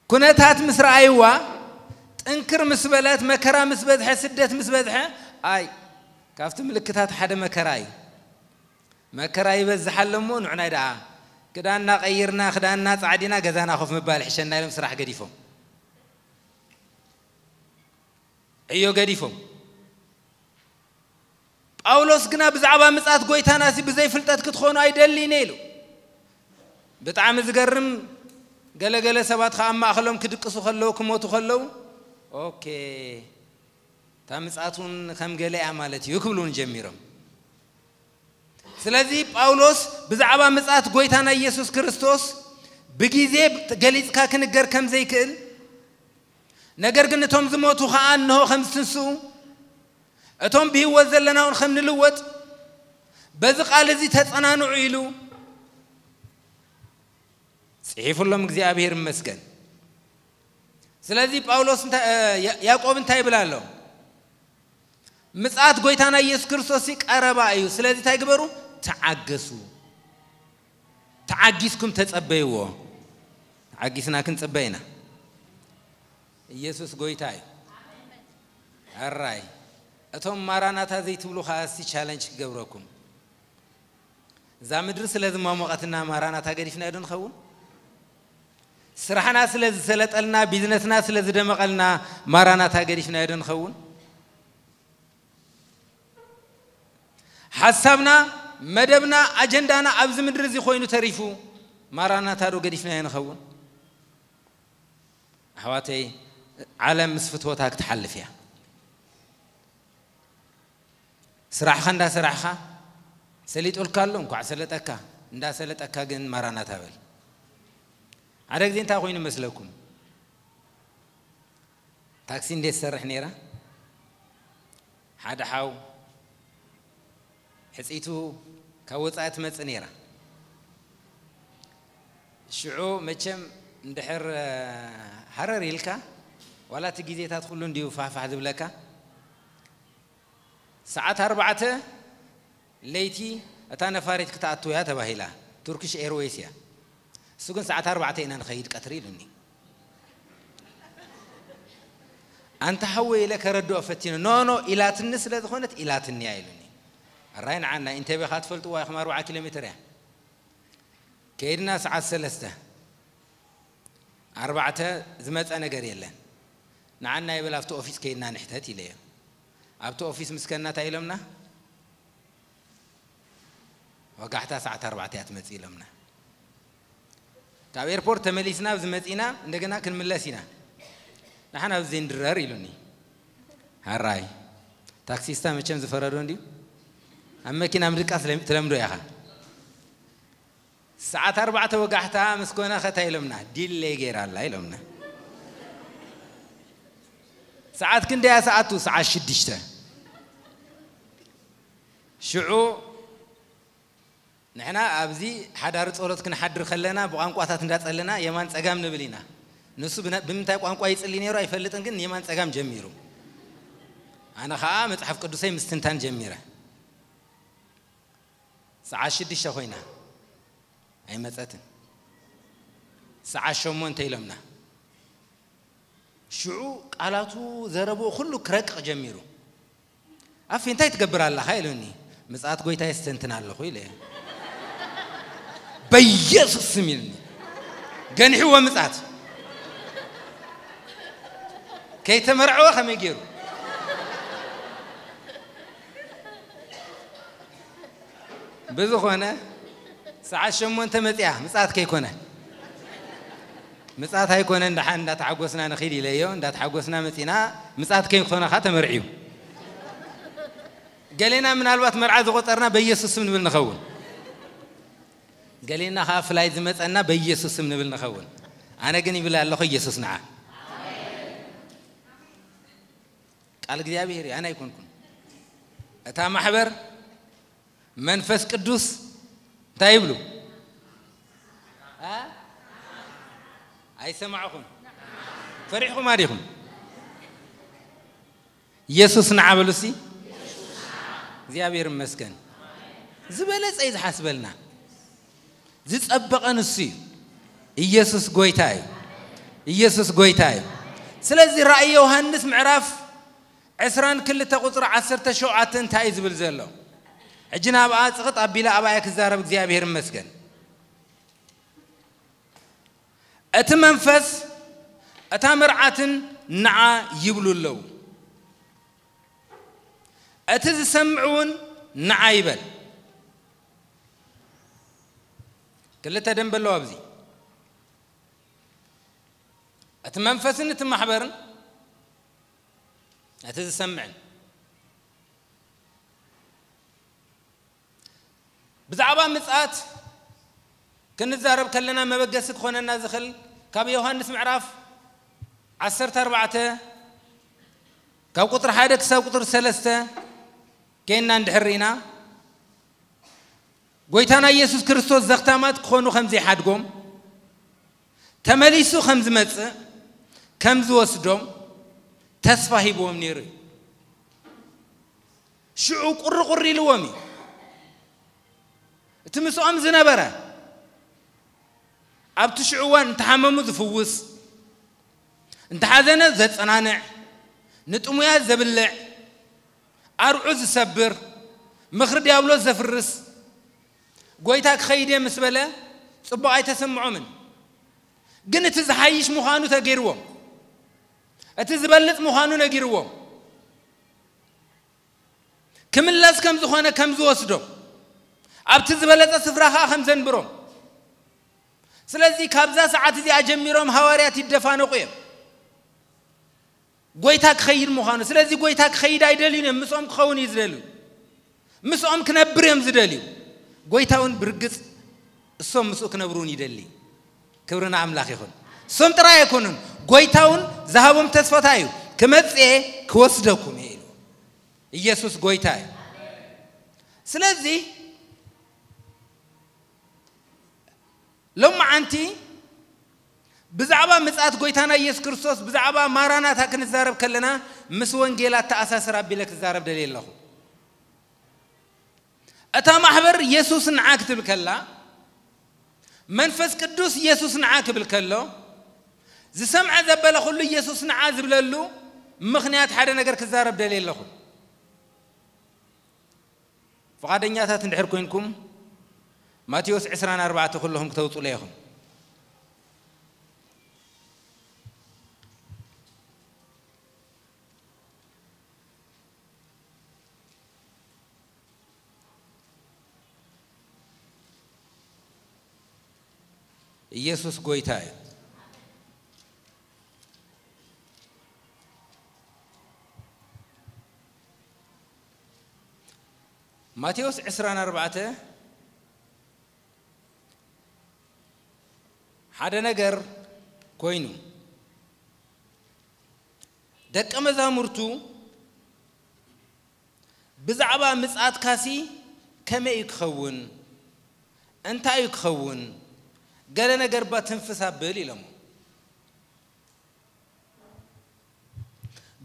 ኩነታት ምስ ረኣይዋ፣ ጥንክር ምስ በለት፣ መከራ ምስ በዝሐ፣ ስደት ምስ በዝሐ፣ ኣይ፣ ካብቲ ምልክታት ሓደ መከራ እዩ። መከራ ይበዝሕ ኣሎ እሞ ንዕናይ ደኣ ክዳንና ቀይርና፣ ክዳንና ጻዕዲና፣ ገዛና ኮፍ ምባል ይሕሸና ኢሎም ስራሕ ገዲፎም፣ ዕዮ ገዲፎም። ጳውሎስ ግና ብዛዕባ ምጽኣት ጐይታናሲ ብዘይ ፍልጠት ክትኾኑ ኣይደልን ኢሉ። ብጣዕሚ ዝገርም፣ ገለገለ ሰባት ኸኣ ኣብ ማእከሎም ክድቅሱ ከለዉ፣ ክሞቱ ከለዉ፣ ኦኬ፣ እታ ምጽኣት እውን ከም ገለ እያ ማለት እዩ ክብሉ እውን ጀሚሮም። ስለዚ ጳውሎስ ብዛዕባ ምጽኣት ጐይታና ኢየሱስ ክርስቶስ ብግዜ ገሊጽካ ክንገር ከም ዘይክእል፣ ነገር ግን እቶም ዝሞቱ ኸኣ እንሆ ከም ዝትንስኡ፣ እቶም ብህይወት ዘለና እውን ከም ንልወጥ፣ በዚ ቃል እዚ ተጸናንዑ ኢሉ ጽሒፉሎም፣ እግዚኣብሔር ይመስገን። ስለዚ ጳውሎስ እንታይ፣ እ፣ ያ-፣ ያዕቆብ እንታይ ይብል ኣሎ? ምጽኣት ጐይታና ኢየሱስ ክርስቶስ ቀረባ እዩ። ስለዚ እንታይ ግበሩ? ተዓገሱ። ተዓጊስኩም ተጸበይዎ። ተዓጊስና ክንጽበ ኢና። ኢየሱስ ጐይታ እዩ። ኣራይ፣ እቶም ማራናታ ዘይትብሉ ኸኣ እስቲ ቻለንጅ ክገብረኩም። እዛ ምድሪ ስለ ዝማሞቐትና ማራናታ ገዲፍናዮ ዶ ንኸውን? ስራሕና ስለ ዝሰለጠልና፣ ቢዝነስና ስለ ዝደመቐልና ማራናታ ገዲፍናዮ ዶ ንኸውን? ሓሳብና፣ መደብና፣ ኣጀንዳና ኣብዚ ምድሪ እዚ ኮይኑ ተሪፉ፣ ማራናታ ዶ ገዲፍናዮ ንኸውን? ኣሕዋተይ፣ ዓለም ምስ ፍትወታ ክትሓልፍ እያ። ስራሕኻ እንዳሰራሕኻ፣ ሰሊጡልካ ኣሎ፣ እንኳዕ ሰለጠካ። እንዳሰለጠካ ግን ማራናታ በል። ሓደ ግዜ እንታይ ኮይኑ መስለኩም? ታክሲ እንዴት ትሰርሕ ነይራ? ሓደ ሓው ሕጽይቱ ካብ ወጻኢ ትመጽእ ነይራ። ሽዑ መቸም እንድሕር፣ እ፣ ሃረር ኢልካ፣ ዋላ እቲ ግዜታት ኩሉ እንድዩ ፋሕፋሕ ዝብለካ። ሰዓት ኣርባዕተ ለይቲ እታ ነፋሪት ክትኣቱ እያ ተባሂላ። ቱርኪሽ ኤርዌይስ እያ። እሱ ግን ሰዓት ኣርባዕተ ኢና ንኸይድ ቀትሪ ኢሉኒ። ኣንታ ሓወይ ኢለ ከረድኦ ፈቲነ። ኖ፣ ኖ፣ ኢላትኒ ስለ ዝኾነት ኢላትኒ እያ ኢሉኒ። ኣራይ ንዓና ኢንቴቤ ኸኣ ትፈልጥዋ ኢኹም፣ ኣርብዓ ኪሎ ሜትር እያ። ከይድና ሰዓት ሰለስተ፣ ኣርባዕተ ዝመጸ ነገር የለን። ንዓና ይበል ኣብቲ ኦፊስ ከይድና ንሕተት ኢለዮ። ኣብቲ ኦፊስ ምስ ከድና እንታይ ኢሎምና? ወጋሕታ ሰዓት ኣርባዕተ እያ ትመጽእ ኢሎምና። ካብ ኤርፖርት ተመሊስና ኣብዚ መጺና እንደገና ክንምለስ ኢና። ንሓን ኣብዚ ዘይንድረር ኢሉኒ። ሃራይ። ታክሲስታ መቸም ዝፈረዶ እንድዩ። ኣብ መኪና ምድቃስ ለም-፣ ትለምዶ ኢኻ። ሰዓት ኣርባዕተ ወጋሕታ ምስ ኮነ ኸታ ኢሎምና፣ ዲሌይ ገይራ ኣላ ኢሎምና። ሰዓት ክንደያ ሰዓቱ? ሰዓት ሽዱሽተ። ሽዑ ንሕና ኣብዚ ሓዳሪ ጸሎት ክንሓድር ከለና ብቋንቋታት እንዳጸለና የማን ጸጋም ንብል ኢና። ንሱ ብነ-፣ ብምንታይ ቋንቋ ይጽሊ ነይሩ ኣይፈልጥን፣ ግን የማን ጸጋም ጀሚሩ። ኣነ ኸኣ መጽሓፍ ቅዱሰይ ምስትንታን ጀሚረ። ሰዓት ሽዱሽተ ኮይና ኣይመጸትን። ሰዓት ሸሞንተ ኢሎምና። ሽዑ ቃላቱ ዘረብኡ ኩሉ ክረቅቕ ጀሚሩ። ኣፌ እንታይ ትገብር ኣለኻ ኢሉኒ። ምጽኣት ጎይታ የስተንትን ኣለኹ ኢለ። በኢየሱስ ስም ኢሉኒ። ገንሕዎ ምጽኣት። ከይተመርዐወ ከመይ ገይሩ? ብዝኾነ ሰዓት ሸሞንተ መጺኣ ምጽኣት ከይኮነ። ምጽኣት ኣይኮነን፣ ደሓን እንዳተሓጎስና ንኺድ ኢለዮ። እንዳተሓጎስና መጺና፣ ምጽኣት ከይኮነ ኸኣ ተመርዕዩ። ገሌና ምናልባት መርዓ ዝቖጸርና በኢየሱስ ስም ንብል ንኸውን። ገሌና ከዓ ፍላይ ዝመፀና በኢየሱስ ስም ንብል ንኸውን። ኣነ ግን ይብል ኣለኹ፣ ኢየሱስ ንዓ። ቃል እግዚኣብሔር እዩ፣ ኣነ ኣይኮንኩን። እታ ማሕበር መንፈስ ቅዱስ እንታይ ይብሉ? እ? ኣይሰማዕኹም። ፈሪሕኹም ኣዲኹም? ኢየሱስ ንዓ በሉ እስቲ። እግዚኣብሔር ይመስገን። ዝበለጸ እዩ ዝሓስበልና። ዝጸበቐ ንሱ እዩ። ኢየሱስ ጎይታ እዩ። ኢየሱስ ጎይታ እዩ። ስለዚ ራእይ ዮሃንስ ምዕራፍ ዕስራን ክልተ ቁጽሪ ዓሰርተ ሸውዓተ እንታይ እዩ ዝብል ዘሎ? ሕጂ ናብኣ ጽቕጥ ኣቢለ ኣብኣ እየ ክዛረብ፣ እግዚኣብሔር ይመስገን። እቲ መንፈስ፣ እታ መርዓትን ንዓ ይብሉ ኣለዉ። እቲ ዝሰምዕ እውን ንዓ ይበል። ክልተ ደንበ ኣለዎ ኣብዚ። እቲ መንፈስን እቲ ማሕበርን፣ እቲ ዝሰምዕን። ብዛዕባ ምጽኣት ክንዛረብ ከለና መበገሲ ክኾነና ዝኽእል ካብ ዮሃንስ ምዕራፍ ዓሰርተ ኣርባዕተ ካብ ቁጽሪ ሓደ ክሳብ ቁጽሪ ሰለስተ ኬንና እንድሕር ርኢና፣ ጎይታና ኢየሱስ ክርስቶስ ዘኽታማት ክኾኑ ከም ዘይሓድጎም፣ ተመሊሱ ከም ዝመጽእ ከም ዝወስዶም ተስፋ ሂብዎም ነይሩ እዩ። ሽዑ ቁሪ ቁሪ ኢልዎም እዩ። እቲ ምስኦም ዝነበረ ኣብቲ ሽዑ እዋን እንተሓመሙ ዝፍውስ፣ እንተሓዘነ ዘጸናንዕ፣ ንጥሙያት ዘብልዕ፣ ኣርዑ ዝሰብር፣ ምኽሪ ዲያብሎስ ዘፍርስ፣ ጎይታ ክኸይድ እየ ምስ በለ ጽቡቕ ኣይተሰምዖምን። ግን እቲ ዝሓይሽ ምዃኑ ተገይርዎም፣ እቲ ዝበልጽ ምዃኑ ነጊርዎም፣ ክምለስ ከም ዝኾነ ከም ዝወስዶም፣ ኣብቲ ዝበለጸ ስፍራ ኸኣ ከም ዘንብሮም። ስለዚ ካብዛ ሰዓት እዚኣ ጀሚሮም ሃዋርያት ይደፋነቑ እዮም። ጎይታ ክኸይድ ምዃኑ። ስለዚ ጎይታ ክኸይድ ኣይደልዩን እዮም። ምስኦም ክኸውን እዩ ዝደልዩ። ምስኦም ክነብር እዮም ዝደልዩ። ጎይታ እውን ብርግጽ እሶም ምስኡ ክነብሩ እውን ይደሊ። ክብሪ ንኣምላኽ ይኹን። እሶም ጥራይ ኣይኮኑን። ጎይታ እውን ዝሃቦም ተስፋ እንታይ እዩ? ክመጽእ እየ ክወስደኩም እየ ኢሉ። ኢየሱስ ጎይታ እዩ። ስለዚ ሎማዓንቲ ብዛዕባ ምጽኣት ጎይታና ኢየሱስ ክርስቶስ፣ ብዛዕባ ማራናታ ክንዛረብ ከለና ምስ ወንጌል ኣተኣሳስር ኣቢለ ክዛረብ ደልየ ኣለኹ። እታ ማሕበር ኢየሱስ ንዓ ክትብል ከላ፣ መንፈስ ቅዱስ ኢየሱስ ንዓ ክብል ከሎ፣ ዝሰምዐ ዘበለ ኩሉ ኢየሱስ ንዓ ዝብለሉ ምኽንያት ሓደ ነገር ክዛረብ ደልየ ኣለኹ። ፍቓደኛታት እንድሕር ኮይንኩም፣ ማቴዎስ ዕስራን ኣርባዕተ ኩለኹም ክተውጹለይ ኢኹም። ኢየሱስ ጎይታ እዩ። ማቴዎስ ዕስራን ኣርባዕተ ሓደ ነገር ኮይኑ፣ ደቀ መዛሙርቱ ብዛዕባ ምጽኣትካሲ ከመይ እዩ ክኸውን? እንታይ እዩ ክኸውን? ገለ ነገር እባ ትንፍስ ኣብል ኢሎሞ።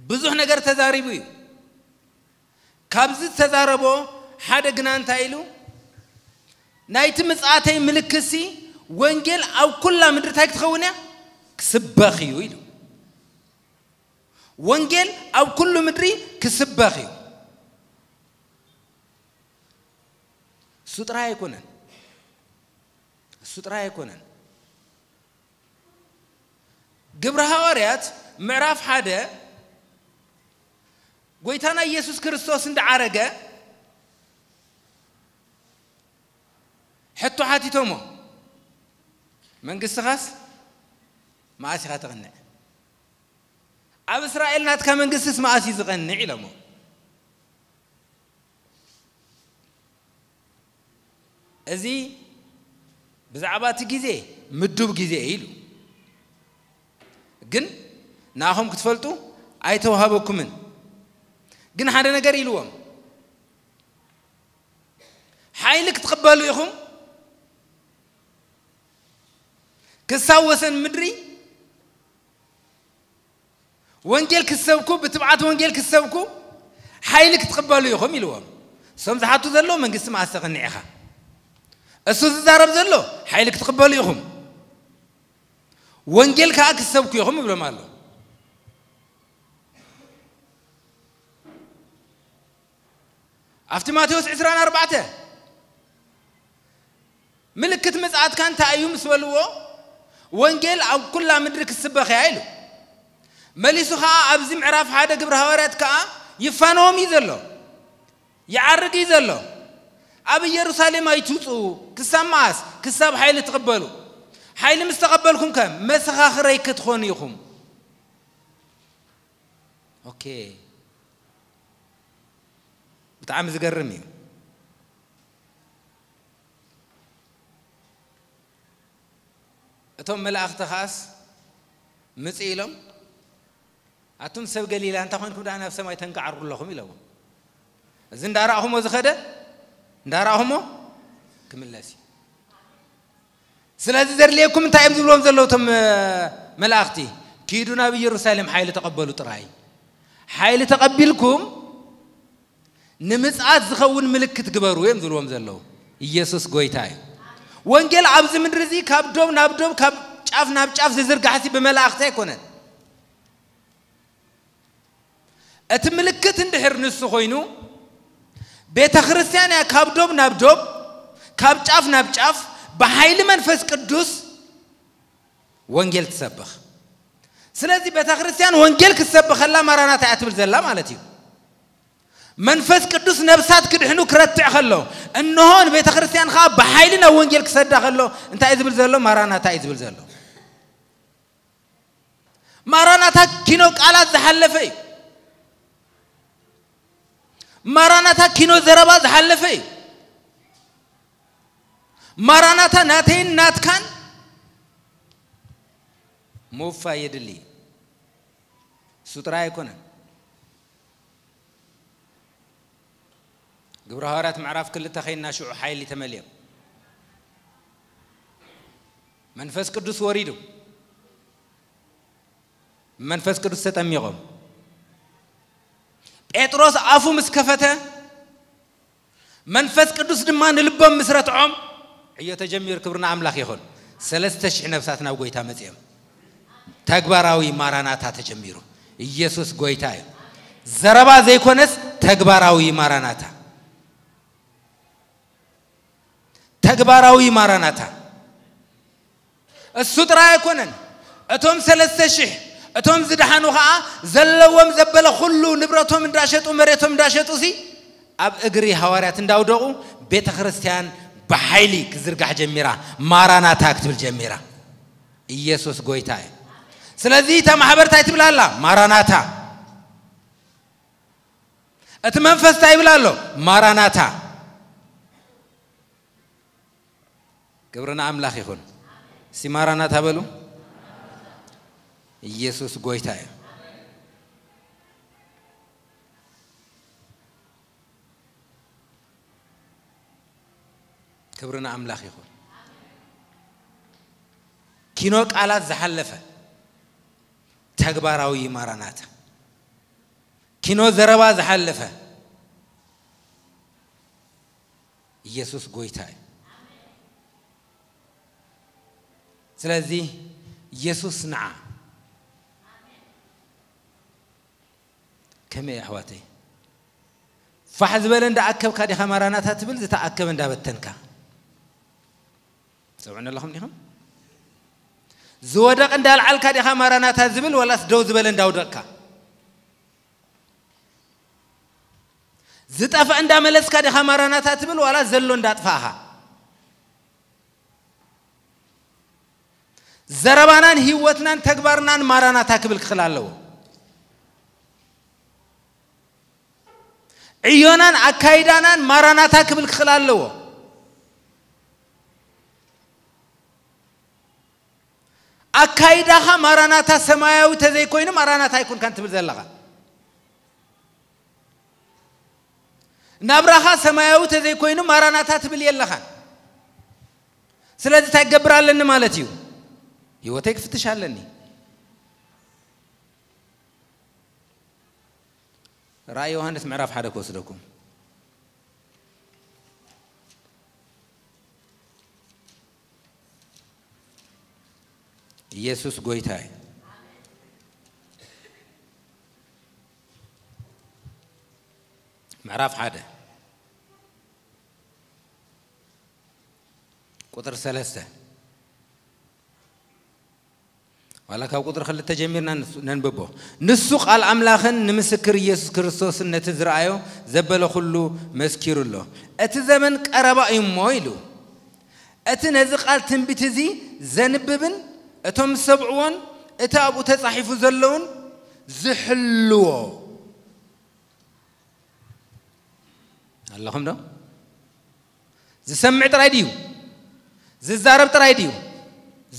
ብዙሕ ነገር ተዛሪቡ እዩ። ካብዚ ዝተዛረቦ ሓደ ግና እንታይ ኢሉ? ናይቲ ምጽኣተይ ምልክትሲ ወንጌል ኣብ ኩላ ምድሪ እንታይ ክትኸውን እያ? ክስበኽ እዩ ኢሉ። ወንጌል ኣብ ኩሉ ምድሪ ክስበኽ እዩ። እሱ ጥራይ ኣይኮነን። እሱ ጥራይ ኣይኮነን። ግብረ ሃዋርያት ምዕራፍ ሓደ ጎይታና ኢየሱስ ክርስቶስ እንዳዓረገ ሕቶ ሓቲቶሞ፣ መንግስትኻስ መኣስ ኢኻ ተቕንዕ? ኣብ እስራኤል ናትካ መንግስትስ መኣስ እዩ ዝቐንዕ? ኢሎሞ። እዚ ብዛዕባ እቲ ግዜ ምዱብ ግዜ እዩ ኢሉ። ግን ንኣኹም ክትፈልጡ ኣይተዋህበኩምን። ግን ሓደ ነገር ኢልዎም፣ ሓይሊ ክትቕበሉ ኢኹም፣ ክሳብ ወሰን ምድሪ ወንጌል ክትሰብኩ፣ ብትብዓት ወንጌል ክትሰብኩ ሓይሊ ክትቕበሉ ኢኹም ኢልዎም። እሶም ዝሓቱ ዘለዉ መንግስቲ መኣስ ተቐኒዕኻ። እሱ ዝዛረብ ዘሎ ሓይሊ ክትቕበሉ ኢኹም፣ ወንጌል ከዓ ክትሰብኩ ኢኹም ይብሎም ኣሎ። ኣብቲ ማቴዎስ ዕስራን ኣርባዕተ ምልክት ምጽኣትካ እንታይ እዩ ምስ በልዎ፣ ወንጌል ኣብ ኩላ ምድሪ ክስበኽ እያ ኢሉ። መሊሱ ኸዓ ኣብዚ ምዕራፍ ሓደ ግብረ ሃዋርያት ከኣ ይፋነዎም እዩ ዘሎ፣ ይዓርግ እዩ ዘሎ። ኣብ ኢየሩሳሌም ኣይትውጽኡ፣ ክሳብ መኣስ? ክሳብ ሓይሊ ትቕበሉ። ሓይሊ ምስ ተቐበልኩም ከ መሰኻኽረይ ክትኾኑ ኢኹም። ኦኬ፣ ብጣዕሚ ዝገርም እዩ። እቶም መላእኽቲ ኸኣስ ምጽእ ኢሎም፣ ኣቱም ሰብ ገሊላ እንታይ ኮንኩም ደኣ ናብ ሰማይ ተንቃዕሩ ኣለኹም ኢለዎም። እዚ እንዳረኣኹሞ ዝኸደ እንዳረኣኹሞ ክምለስ እዩ። ስለዚ ዘድልየኩም እንታይ እዮም ዝብሎም ዘለዉ እቶም መላእኽቲ? ኪዱ ናብ ኢየሩሳሌም ሓይሊ ተቐበሉ ጥራይ። ሓይሊ ተቐቢልኩም ንምጽኣት ዝኸውን ምልክት ግበሩ እዮም ዝብልዎም ዘለዉ። ኢየሱስ ጎይታ እዩ። ወንጌል ኣብዚ ምድሪ እዚ ካብ ዶብ ናብ ዶብ፣ ካብ ጫፍ ናብ ጫፍ ዝዝርጋሕሲ ብመላእኽቲ ኣይኮነን። እቲ ምልክት እንድሕር ንሱ ኮይኑ፣ ቤተ ክርስቲያን እያ ካብ ዶብ ናብ ዶብ፣ ካብ ጫፍ ናብ ጫፍ ብሓይሊ መንፈስ ቅዱስ ወንጌል ትሰብኽ። ስለዚ ቤተ ክርስቲያን ወንጌል ክትሰብኸላ ማራናታ እያ ትብል ዘላ ማለት እዩ። መንፈስ ቅዱስ ነብሳት ክድሕኑ ክረትዕ ከሎ፣ እንሆ ንቤተ ክርስቲያን ኸዓ ብሓይሊ ናብ ወንጌል ክሰዳ ከሎ፣ እንታይ እዩ ዝብል ዘሎ? ማራናታ እዩ ዝብል ዘሎ። ማራናታ ኪኖ ቃላት ዝሓለፈ እዩ። ማራናታ ኪኖ ዘረባ ዝሓለፈ እዩ። ማራናታ ናተይን ናትካን ምውፋይ የድሊ። እሱ ጥራይ ኣይኮነን። ግብረ ሃዋርያት ምዕራፍ ክልተ ኸይና ሽዑ ሓይሊ ተመልዮም። መንፈስ ቅዱስ ወሪዱ። መንፈስ ቅዱስ ተጠሚቖም። ጴጥሮስ ኣፉ ምስ ከፈተ፣ መንፈስ ቅዱስ ድማ ንልቦም ምስ ረትዖም፣ ዕዮ ተጀሚሩ። ክብሪ ንኣምላኽ ይኹን። ሰለስተ ሽሕ ነፍሳት ናብ ጎይታ መጺኦም። ተግባራዊ ማራናታ ተጀሚሩ። ኢየሱስ ጎይታ እዩ። ዘረባ ዘይኮነስ ተግባራዊ ማራናታ። ተግባራዊ ማራናታ። እሱ ጥራይ ኣይኮነን። እቶም ሰለስተ ሽሕ፣ እቶም ዝደሓኑ ኸዓ ዘለዎም ዘበለ ኩሉ ንብረቶም እንዳሸጡ፣ መሬቶም እንዳሸጡ ሲ ኣብ እግሪ ሃዋርያት እንዳውደቑ ቤተ ክርስቲያን ብሓይሊ ክዝርጋሕ ጀሚራ። ማራናታ ክትብል ጀሚራ። ኢየሱስ ጎይታ እዩ። ስለዚ እታ ማሕበር እንታይ ትብል ኣላ? ማራናታ። እቲ መንፈስ እንታይ ይብል ኣሎ? ማራናታ። ክብሪ ንኣምላኽ ይኹን። እስቲ ማራናታ በሉ። ኢየሱስ ጎይታ እዩ። ክብሪ ንኣምላኽ ይኹን። ኪኖ ቃላት ዝሓለፈ ተግባራዊ ማራናታ። ኪኖ ዘረባ ዝሓለፈ ኢየሱስ ጎይታ እዩ። ስለዚ ኢየሱስ ንዓ። ከመይ ኣሕዋተይ? ፋሕ ዝበለ እንዳኣከብካ ዲኻ ማራናታ ትብል፣ ዝተኣከበ እንዳበተንካ? ትሰምዑኒ ኣለኹም ዲኹም? ዝወደቕ እንዳልዓልካ ዲኻ ማራናታ ዝብል፣ ዋላስ ደው ዝበለ እንዳውደቕካ? ዝጠፍአ እንዳመለስካ ዲኻ ማራናታ ትብል፣ ዋላ ዘሎ እንዳጥፋእኻ? ዘረባናን ህይወትናን ተግባርናን ማራናታ ክብል ክኽእል ኣለዎ። ዕዮናን ኣካይዳናን ማራናታ ክብል ክኽእል ኣለዎ። ኣካይዳኻ ማራናታ ሰማያዊ ተዘይኮይኑ ማራናታ ኣይኮንካን ትብል ዘለኻ። ናብራኻ ሰማያዊ ተዘይኮይኑ ማራናታ ትብል የለኻን። ስለዚ እንታይ ክገብር ኣለኒ ማለት እዩ? ህይወተይ ክፍትሽ ኣለኒ። ራእይ ዮሃንስ ምዕራፍ ሓደ ክወስደኩም። ኢየሱስ ጎይታ እዩ። ምዕራፍ ሓደ ቁጥር ሰለስተ፣ ዋላ ካብ ቁጥሪ ክልተ ጀሚርና ንሱ ነንብቦ። ንሱ ቃል ኣምላኽን ንምስክር ኢየሱስ ክርስቶስን ነቲ ዝረኣዮ ዘበለ ኩሉ መስኪሩ ኣሎ። እቲ ዘመን ቀረባ እዩ እሞ ኢሉ። እቲ ነዚ ቃል ትንቢት እዚ ዘንብብን እቶም ዝሰምዕዎን እቲ ኣብኡ ተጻሒፉ ዘለውን ዝሕልዎ። ኣለኹም ዶ? ዝሰምዕ ጥራይ ድዩ? ዝዛረብ ጥራይ ድዩ?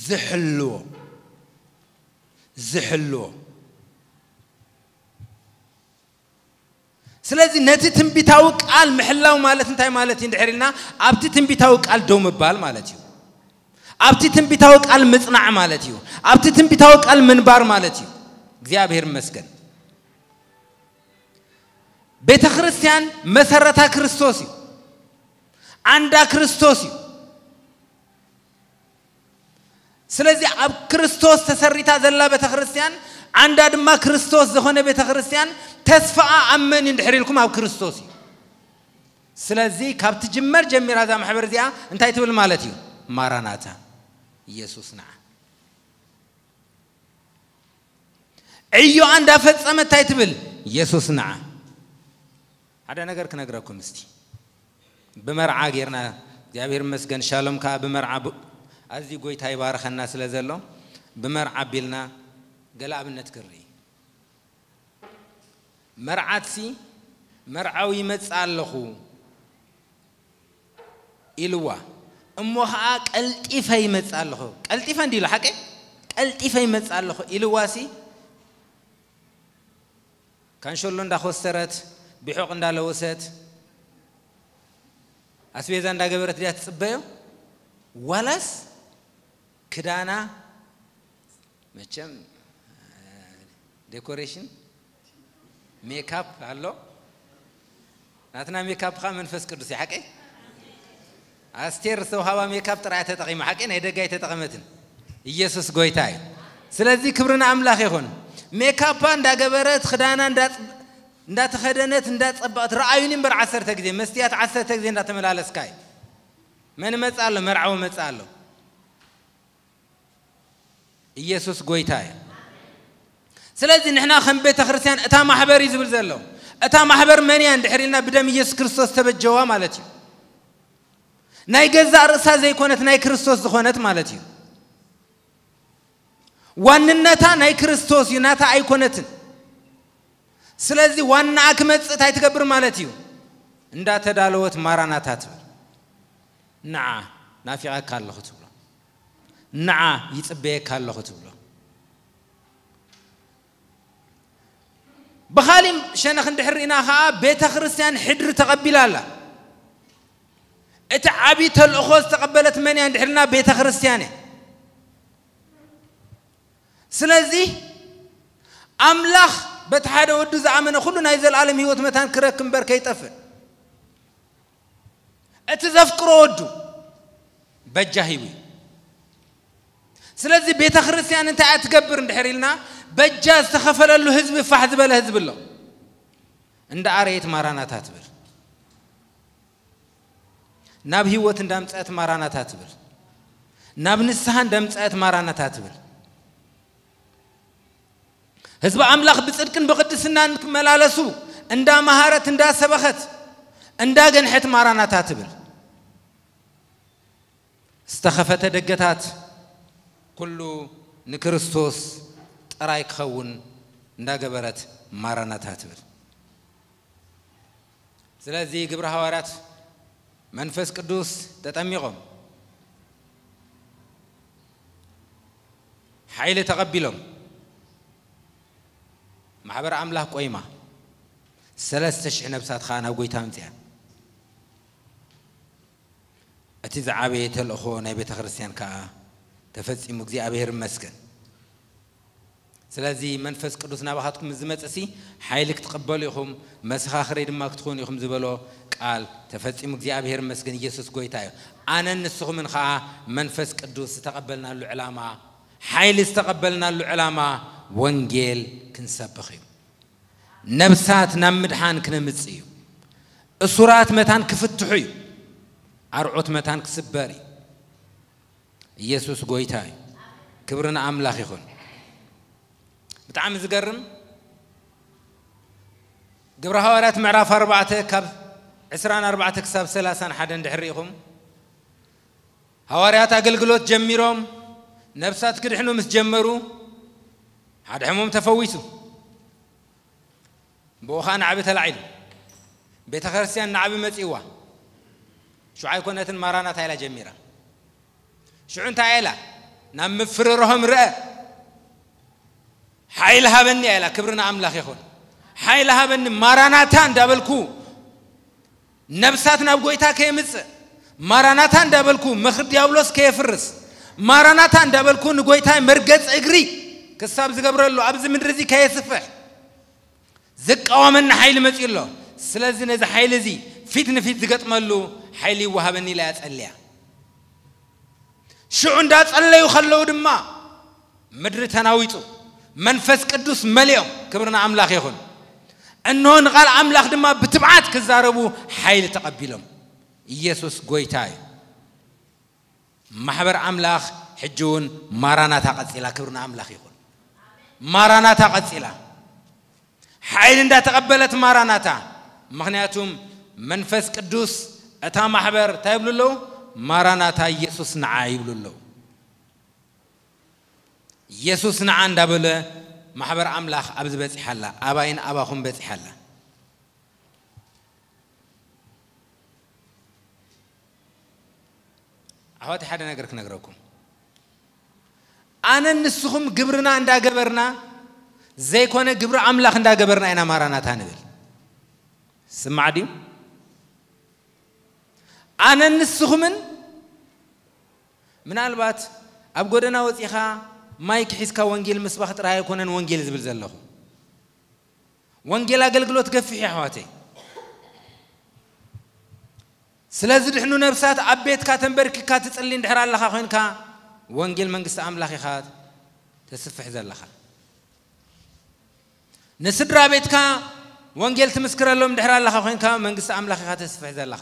ዝሕልዎ። ዝሕልዎ። ስለዚ ነቲ ትንቢታዊ ቃል ምሕላው ማለት እንታይ ማለት እዩ እንድሕር ኢልና፣ ኣብቲ ትንቢታዊ ቃል ደው ምባል ማለት እዩ። ኣብቲ ትንቢታዊ ቃል ምጽናዕ ማለት እዩ። ኣብቲ ትንቢታዊ ቃል ምንባር ማለት እዩ። እግዚኣብሔር ይመስገን። ቤተ ክርስቲያን መሰረታ ክርስቶስ እዩ። ዓንዳ ክርስቶስ እዩ። ስለዚ ኣብ ክርስቶስ ተሰሪታ ዘላ ቤተ ክርስቲያን፣ ዓንዳ ድማ ክርስቶስ ዝኾነ ቤተ ክርስቲያን፣ ተስፋኣ ኣብ መን እዩ እንድሕር ኢልኩም፣ ኣብ ክርስቶስ እዩ። ስለዚ ካብ ትጅመር ጀሚራ እዛ ማሕበር እዚኣ እንታይ ትብል ማለት እዩ? ማራናታ፣ ኢየሱስ ንዓ። ዕዮኣ እንዳፈጸመት እንታይ ትብል? ኢየሱስ ንዓ። ሓደ ነገር ክነግረኩም እስቲ። ብመርዓ ጌርና፣ እግዚኣብሔር ይመስገን፣ ሻሎም ከኣ ብመርዓ ብ-፣ ኣዝዩ ጎይታ ይባርኸና ስለ ዘሎ፣ ብመርዓ ኣቢልና ገለ ኣብነት ክርኢ። መርዓትሲ፣ "መርዓዊ ይመጽእ ኣለኹ" ኢልዋ። እሞ ኸኣ "ቀልጢፈ ይመጽእ ኣለኹ።" ቀልጢፈ እንዲ ኢሉ፣ ሓቂ? "ቀልጢፈ ይመጽእ ኣለኹ" ኢልዋሲ፣ ካንሸሎ እንዳኾስተረት፣ ቢሖቕ እንዳለወሰት፣ ኣስቤዛ እንዳገበረት ድያ ትጽበዮ? ዋላስ ክዳና፣ መቸም፣ እ፣ ዴኮሬሽን፣ ሜካፕ ኣሎ። ናትና ሜካፕ ኸኣ መንፈስ ቅዱስ እዩ፣ ሓቀይ? ኣስቴር ዝተውሃባ ሜካፕ ጥራይ ተጠቒማ፣ ሓቀይ? ናይ ደገ ኣይተጠቐመትን። ኢየሱስ ጎይታ እዩ። ስለዚ ክብሪ ንኣምላኽ ይኹን። ሜካፓ እንዳገበረት፣ ክዳና እንዳ-፣ እንዳተኸደነት፣ እንዳጸበቐት፣ ረኣዩኒ እምበር ዓሰርተ ግዜ፣ መስትያት ዓሰርተ ግዜ እንዳተመላለስካ እዩ። መን መጽእ ኣሎ? መርዓዊ መጽእ ኣሎ። ኢየሱስ ጎይታ እዩ። ስለዚ ንሕና ከም ቤተ ክርስቲያን እታ ማሕበር እዩ ዝብል ዘሎ። እታ ማሕበር መን እያ እንድሕር ኢልና ብደም ኢየሱስ ክርስቶስ ተበጀዋ ማለት እዩ። ናይ ገዛእ ርእሳ ዘይኮነት ናይ ክርስቶስ ዝኾነት ማለት እዩ። ዋንነታ ናይ ክርስቶስ እዩ፣ ናታ ኣይኮነትን። ስለዚ ዋናኣ ክመጽእ እንታይ ትገብር ማለት እዩ? እንዳተዳለወት ማራናታ ትብል። ንዓ ናፊቐካ ኣለኹ ትብሎ። ንዓ ይጽበየካ ኣለኹ ትብሎ። ብኻሊእ ሸነኽ እንድሕር ርኢና ኸኣ ቤተ ክርስቲያን ሕድሪ ተቐቢላ ኣላ። እቲ ዓቢ ተልእኾ ዝተቐበለት መን እያ እንድሕር ኢልና ቤተ ክርስቲያን እያ። ስለዚ ኣምላኽ በቲ ሓደ ወዱ ዝኣመነ ኩሉ ናይ ዘለኣለም ህይወት መታን ክረክብ እምበር ከይጠፍእ፣ እቲ ዘፍቅሮ ወዱ በጃ ሂቡ እዩ። ስለዚ ቤተ ክርስቲያን እንታይ እያ ትገብር እንድሕር ኢልና፣ በጃ ዝተኸፈለሉ ህዝቢ ፋሕ ዝበለ ህዝቢ ኣሎ። እንዳ ኣረየት ማራናታ ትብል። ናብ ህይወት እንዳምጸአት ማራናታ ትብል። ናብ ንስሓ እንዳምጸአት ማራናታ ትብል። ህዝቢ ኣምላኽ ብጽድቅን ብቕድስናን ክመላለሱ እንዳመሃረት፣ እንዳሰበኸት፣ እንዳገንሐት ማራናታ ትብል። ዝተኸፈተ ደገታት ኩሉ ንክርስቶስ ጥራይ ክኸውን እንዳገበረት ማራናታ ትብል። ስለዚ ግብረ ሃዋርያት መንፈስ ቅዱስ ተጠሚቖም፣ ሓይሊ ተቐቢሎም። ማሕበር ኣምላኽ ቆይማ። ሰለስተ ሽሕ ነብሳት ኸኣ ናብ ጎይታ ኣምጽኣን። እቲ ዝዓበየ ተልእኾ ናይ ቤተ ክርስቲያን ከኣ ተፈጺሙ፣ እግዚኣብሔር ይመስገን። ስለዚ መንፈስ ቅዱስ ናባኻትኩም ምስ ዝመጽእሲ ሓይሊ ክትቕበሉ ኢኹም፣ መሰኻኽረይ ድማ ክትኾኑ ኢኹም ዝበሎ ቃል ተፈጺሙ፣ እግዚኣብሔር ይመስገን። ኢየሱስ ጎይታ እዩ። ኣነን ንስኹምን ኸኣ መንፈስ ቅዱስ ዝተቐበልናሉ ዕላማ፣ ሓይሊ ዝተቐበልናሉ ዕላማ ወንጌል ክንሰብኽ እዩ። ነብሳት ናብ ምድሓን ክነምጽእ እዩ። እሱራት መታን ክፍትሑ እዩ። ኣርዑት መታን ክስበር እዩ። ኢየሱስ ጎይታ እዩ። ክብሪ ንኣምላኽ ይኹን። ብጣዕሚ ዝገርም፣ ግብረ ሃዋርያት ምዕራፍ ኣርባዕተ ካብ ዕስራን ኣርባዕተ ክሳብ ሰላሳን ሓደ እንድሕር ርኢኹም፣ ሃዋርያት ኣገልግሎት ጀሚሮም ነብሳት ክድሕኑ ምስ ጀመሩ፣ ሓደ ሕሙም ተፈዊሱ። ብኡ ኸኣ ናዕቢ ተላዒሉ። ቤተ ክርስቲያን ናዕቢ መጺእዋ። ሽዑ ኣይኮነትን ማራናታ ኢላ ጀሚራ። ሽዑ እንታይ ኢላ? ናብ ምፍርርሆም ርአ። ሓይሊ ሃበኒ ኢላ፣ ክብሪ ንኣምላኽ ይኹን። ሓይሊ ሃበኒ ማራናታ እንዳበልኩ ነብሳት ናብ ጎይታ ከየምጽእ፣ ማራናታ እንዳበልኩ ምኽሪ ዲያብሎስ ከየፍርስ፣ ማራናታ እንዳበልኩ ንጎይታይ መርገጽ እግሪ ክሳብ ዝገብረሉ ኣብዚ ምድሪ እዚ ከየስፍሕ ዝቃወመኒ ሓይሊ መጺኡ ኣሎ። ስለዚ ነዚ ሓይሊ እዚ ፊት ንፊት ዝገጥመሉ ሓይሊ ይወሃበኒ ኢላ እያ ጸልያ። ሽዑ እንዳጸለዩ ከለዉ ድማ ምድሪ ተናዊጹ፣ መንፈስ ቅዱስ መሊኦም፣ ክብሪ ንኣምላኽ ይኹን። እንሆ ንቓል ኣምላኽ ድማ ብትብዓት ክዛረቡ ሓይሊ ተቐቢሎም። ኢየሱስ ጎይታ እዩ። ማሕበር ኣምላኽ ሕጂ እውን ማራናታ ቀጺላ፣ ክብሪ ንኣምላኽ ይኹን። ማራናታ ቀጺላ። ሓይሊ እንዳተቐበለት ማራናታ። ምኽንያቱም መንፈስ ቅዱስ እታ ማሕበር እንታይ ይብሉ ኣለዉ? ማራናታ ኢየሱስ ንዓ ይብሉ ኣለዉ። ኢየሱስ ንዓ እንዳበለ ማሕበር ኣምላኽ ኣብዚ በጺሓ ኣላ። ኣባይን ኣባኹም በጺሓ ኣላ። ኣሕዋተይ ሓደ ነገር ክነግረኩም። ኣነን ንስኹም ግብርና እንዳገበርና ዘይኮነ ግብሪ ኣምላኽ እንዳገበርና ኢና ማራናታ ንብል። ስማዕ ድዩ? ኣነን ንስኹምን ምናልባት ኣብ ጎደና ወጺኻ ማይክ ሒዝካ ወንጌል ምስባኽ ጥራይ ኣይኮነን ወንጌል ዝብል ዘለኹ። ወንጌል ኣገልግሎት ገፊሕ እዩ ኣሕዋተይ። ስለ ዝድሕኑ ነብሳት ኣብ ቤትካ ተንበርኪካ ትጽሊ እንድሕር ኣለኻ ኮይንካ ወንጌል መንግስቲ ኣምላኽ ኢኻ ተስፍሕ ዘለኻ። ንስድራ ቤትካ ወንጌል ትምስክረሎም እንድሕር ኣለኻ ኮይንካ መንግስቲ ኣምላኽ ኢኻ ተስፍሕ ዘለኻ፣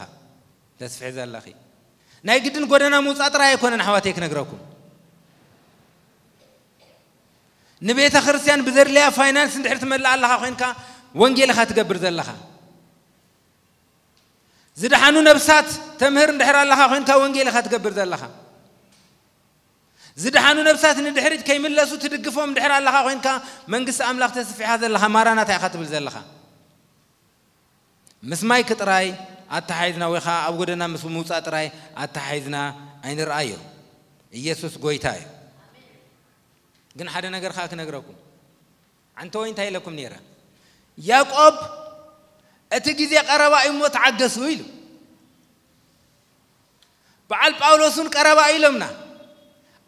ተስፍሕ ዘለኺ። ናይ ግድን ጎደና ምውጻእ ጥራይ ኣይኮነን ኣሕዋተይ ክነግረኩም። ንቤተ ክርስቲያን ብዘድልያ ፋይናንስ እንድሕር ትመልእ ኣለኻ ኮይንካ ወንጌል ኢኻ ትገብር ዘለኻ። ዝደሓኑ ነብሳት ተምህር እንድሕር ኣለኻ ኮይንካ ወንጌል ኢኻ ትገብር ዘለኻ። ዝደሓኑ ነብሳት ንድሕሪት ከይምለሱ ትድግፎም እንድሕር ኣለኻ ኮይንካ መንግስቲ ኣምላኽ ተስፊሓ ዘለኻ ማራናታ ኢኻ ትብል ዘለኻ። ምስ ማይክ ጥራይ ኣተሓሒዝና ወይ ኸዓ ኣብ ጎደና ምስ ምውጻእ ጥራይ ኣተሓሒዝና ኣይንርኣዮ። ኢየሱስ ጎይታ እዩ። ግን ሓደ ነገር ኸዓ ክነግረኩም። ኣንተ ወይ እንታይ ኢለኩም ነይረ? ያዕቆብ እቲ ግዜ ቀረባ እዩ እሞ ተዓገሱ ኢሉ። በዓል ጳውሎስ እውን ቀረባ እዩ ኢሎምና።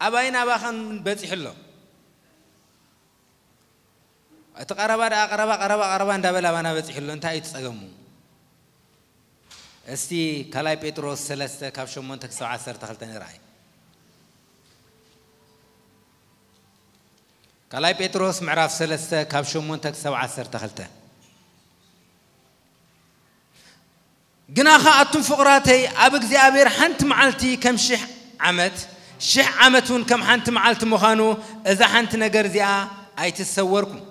ኣባይን ኣባኸን እውን በጺሑ ኣሎ። እቲ ቀረባ ደኣ ቀረባ፣ ቀረባ፣ ቀረባ እንዳበለ ኣባና በጺሑ ኣሎ። እንታይ እዩ እቲ ጸገሙ? እስቲ ካልኣይ ጴጥሮስ ሰለስተ ካብ ሸሞንተ ክሳብ ዓሰርተ ክልተ ንርኣይ። ካልኣይ ጴጥሮስ ምዕራፍ ሰለስተ ካብ ሸሞንተ ክሳብ ዓሰርተ ክልተ። ግናኸ ኣቱም ፍቑራተይ፣ ኣብ እግዚኣብሔር ሓንቲ መዓልቲ ከም ሽሕ ዓመት፣ ሽሕ ዓመት እውን ከም ሓንቲ መዓልቲ ምዃኑ፣ እዛ ሓንቲ ነገር እዚኣ ኣይትሰወርኩም።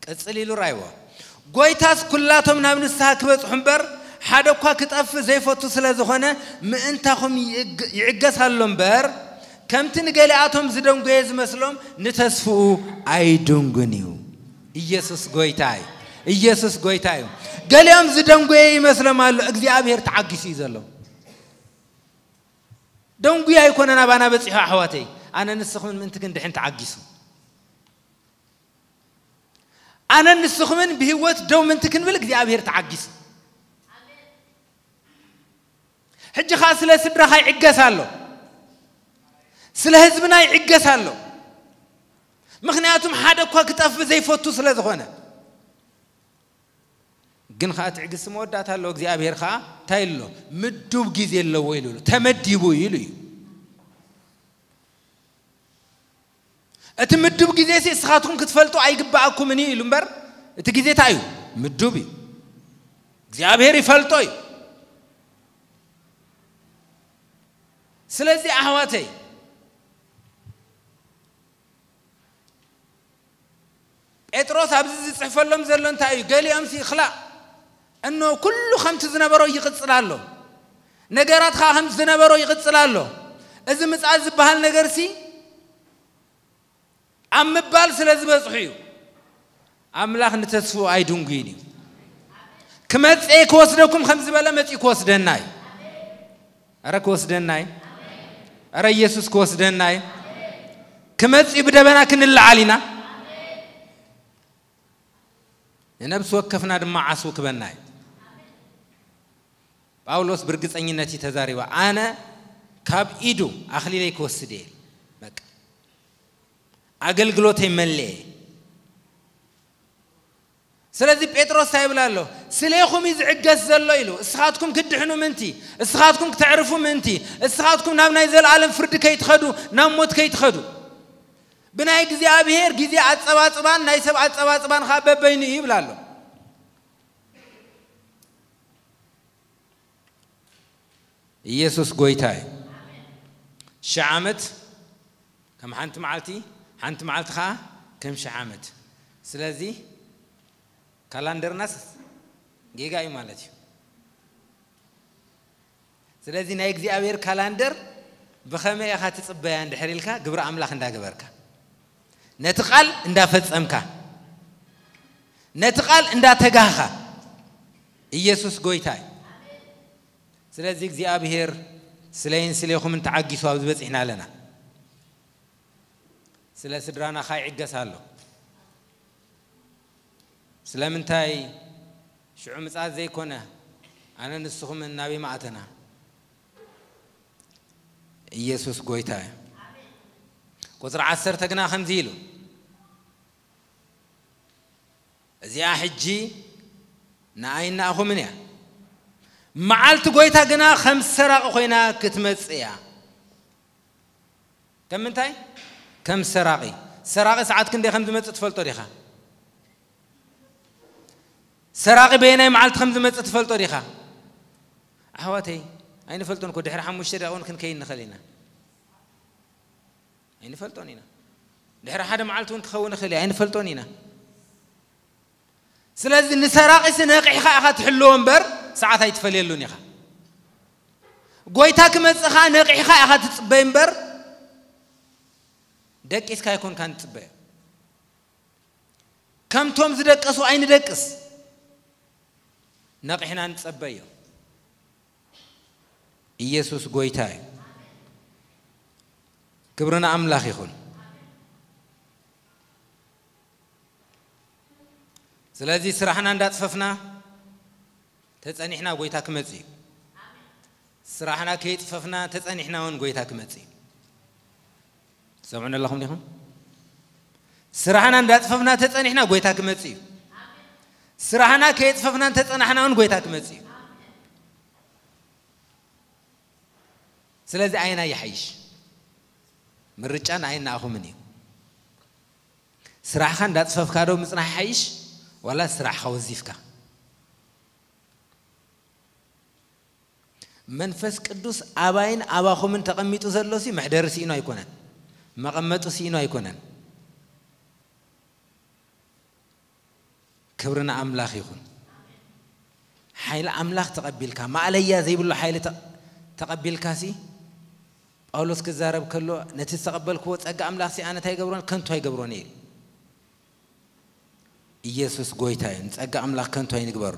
ቅጽል ኢሉ ራይዎ። ጎይታስ ኩላቶም ናብ ንስሓ ክበጽሑ እምበር፣ ሓደ እኳ ክጠፍእ ዘይፈቱ ስለ ዝኾነ፣ ምእንታኹም ይእግ-፣ ይዕገስ ኣሎ እምበር፣ ከምቲ ንገሊኣቶም ዝደንጎየ ዝመስሎም፣ ንተስፍኡ ኣይድንጉን እዩ። ኢየሱስ ጎይታ እዩ። ኢየሱስ ጎይታ እዩ። ገሊኦም ዝደንጎየ ይመስሎም ኣሎ፣ እግዚኣብሔር ተዓጊሱ እዩ ዘሎ። ደንጉዩ ኣይኮነን ኣባና በጺሑ ኣሕዋተይ። ኣነ ንስኹምን ምእንቲ ክንድሕን ተዓጊሱ። ኣነ ንስኹምን ብህይወት ደው ምእንቲ ክንብል እግዚኣብሔር ተዓጊሱ። ሕጂ ኸዓ ስለ ስድራኻ ይዕገስ ኣሎ፣ ስለ ህዝብና ይዕገስ ኣሎ። ምኽንያቱም ሓደ እኳ ክጠፍ ዘይፈቱ ስለ ዝኾነ። ግን ኸዓ ትዕግስቲ መወዳእታ ኣለዎ። እግዚኣብሔር ኸዓ እንታይ ኣሎ? ምዱብ ግዜ ኣለዎ ኢሉ ኣሎ። ተመዲቡ ኢሉ እዩ። እቲ ምዱብ ግዜ ሲ እስኻትኩም ክትፈልጡ ኣይግባኣኩምን እዩ ኢሉ እምበር፣ እቲ ግዜ እንታይ እዩ? ምዱብ እዩ። እግዚኣብሔር ይፈልጦ እዩ። ስለዚ ኣሕዋተይ፣ ጴጥሮስ ኣብዚ ዝጽሕፈሎም ዘሎ እንታይ እዩ? ገሊኦም ሲ ይኽላእ፣ እኖ ኩሉ ከምቲ ዝነበሮ ይቕጽል ኣሎ። ነገራት ኸዓ ከምቲ ዝነበሮ ይቕጽል ኣሎ። እዚ ምጽኣት ዝበሃል ነገር ሲ ኣብ ምባል ስለ ዝበጽሑ እዩ። ኣምላኽ ንተስፍኡ ኣይድንጉይን እዩ። ክመጽእ ክወስደኩም ከም ዝበለ መጺኡ ክወስደና እዩ። ኣረ ክወስደና እዩ። ኣረ ኢየሱስ ክወስደና እዩ። ክመጽእ እዩ፣ ብደበና ክንለዓል ኢና። ንነብሲ ወከፍና ድማ ዓስቡ ክበና እዩ። ጳውሎስ ብርግጸኝነት እዩ ተዛሪባ። ኣነ ካብ ኢዱ ኣኽሊለይ ክወስድ እየ። በቃ ኣገልግሎተይ መለየ። ስለዚ ጴጥሮስ እንታይ ይብል ኣሎ? ስሌኹም እዩ ዝዕገስ ዘሎ ኢሉ። እስኻትኩም ክድሕኑ ምእንቲ፣ እስኻትኩም ክተዕርፉ ምእንቲ፣ እስኻትኩም ናብ ናይ ዘለኣለም ፍርዲ ከይትኸዱ፣ ናብ ሞት ከይትኸዱ። ብናይ እግዚኣብሔር ግዜ ኣጸባጽባን ናይ ሰብ ኣጸባጽባን ኸዓ በበይኑ እዩ ይብል ኣሎ። ኢየሱስ ጎይታ እዩ። ሽሕ ዓመት ከም ሓንቲ መዓልቲ፣ ሓንቲ መዓልቲ ኸዓ ከም ሽሕ ዓመት። ስለዚ ካላንደርናስ ጌጋ እዩ ማለት እዩ። ስለዚ ናይ እግዚኣብሔር ካላንደር ብኸመይ ኢኻ ትጽበያ እንድሕር ኢልካ፣ ግብሪ ኣምላኽ እንዳገበርካ፣ ነቲ ቃል እንዳፈጸምካ፣ ነቲ ቃል እንዳተጋህኻ፣ ኢየሱስ ጎይታ እዩ። ስለዚ እግዚኣብሔር ስለይን ስሌኹምን ተዓጊሱ ኣብዚ በጺሕና ኣለና። ስለ ስድራና ኸዓ ይዕገስ ኣሎ። ስለምንታይ ሽዑ ምጽኣት ዘይኮነ፣ ኣነ ንስኹምን ናበይ ምኣተና? ኢየሱስ ጎይታ እዩ። ቁጽሪ ዓሰርተ ግና ከምዚ ኢሉ፣ እዚኣ ሕጂ ንኣይን ንኣኹምን እያ። መዓልቲ ጎይታ ግና ከም ሰራቒ ኮይና ክትመጽእ እያ። ከም ምንታይ? ከም ሰራቒ። ሰራቒ ሰዓት ክንደይ ከም ዝመጽእ ትፈልጦ ዲኻ? ሰራቒ በየናይ መዓልቲ ከም ዝመጽእ ትፈልጦ ዲኻ? ኣሕዋተይ፣ ኣይንፈልጦን እኮ። ድሕሪ ሓሙሽተ ደቂቕ እውን ክንከይድ ንኽእል ኢና። ኣይንፈልጦን ኢና። ድሕሪ ሓደ መዓልቲ እውን ክኸውን ይኽእል እዩ። ኣይንፈልጦን ኢና። ስለዚ ንሰራቒሲ ነቒሕኻ ኢኻ ትሕልዎ እምበር፣ ሰዓት ኣይትፈልየሉን ኢኻ። ጎይታ ክመጽእ ኸኣ ነቒሕኻ ኢኻ ትጽበይ እምበር፣ ደቂስካ ኣይኮንካን ትጽበዮ። ከምቶም ዝደቀሱ ኣይንደቅስ፣ ነቒሕና ንጸበዮ። ኢየሱስ ጎይታ እዩ። ክብሪ ንኣምላኽ ይኹን። ስለዚ ስራሕና እንዳጽፈፍና ተጸኒሕና ጎይታ ክመጽእ እዩ። ስራሕና ከይጽፈፍና ተጸኒሕና እውን ጎይታ ክመጽእ እዩ። ትሰምዑኒ ኣለኹም ዲኹም? ስራሕና እንዳጽፈፍና ተጸኒሕና ጎይታ ክመጽእ እዩ። ስራሕና ከየጽፈፍና እንተጸናሕና እውን ጎይታ ክመጽእ እዩ። ስለዚ ኣየናይ ይሓይሽ? ምርጫ ንኣይን ንኣኹምን እዩ። ስራሕኻ እንዳጽፈፍካ ዶ ምጽናሕ ይሓይሽ፣ ዋላ ስራሕኻ ወዚፍካ? መንፈስ ቅዱስ ኣባይን ኣባኹምን ተቐሚጡ ዘሎሲ መሕደሪ ስኢኑ ኣይኮነን፣ መቐመጡ ስኢኑ ኣይኮነን። ክብሪ ንኣምላኽ ይኹን። ሓይሊ ኣምላኽ ተቐቢልካ፣ ማእለያ ዘይብሉ ሓይሊ ተ-፣ ተቐቢልካሲ፣ ጳውሎስ ክዛረብ ከሎ፣ ነቲ ዝተቐበልክዎ ጸጋ ኣምላኽሲ ኣነ እንታይ ይገብሮን? ከንቱ ኣይገብሮን እየ ኢሉ። ኢየሱስ ጎይታ እዩ። ንጸጋ ኣምላኽ ከንቱ ኣይንግበሮ።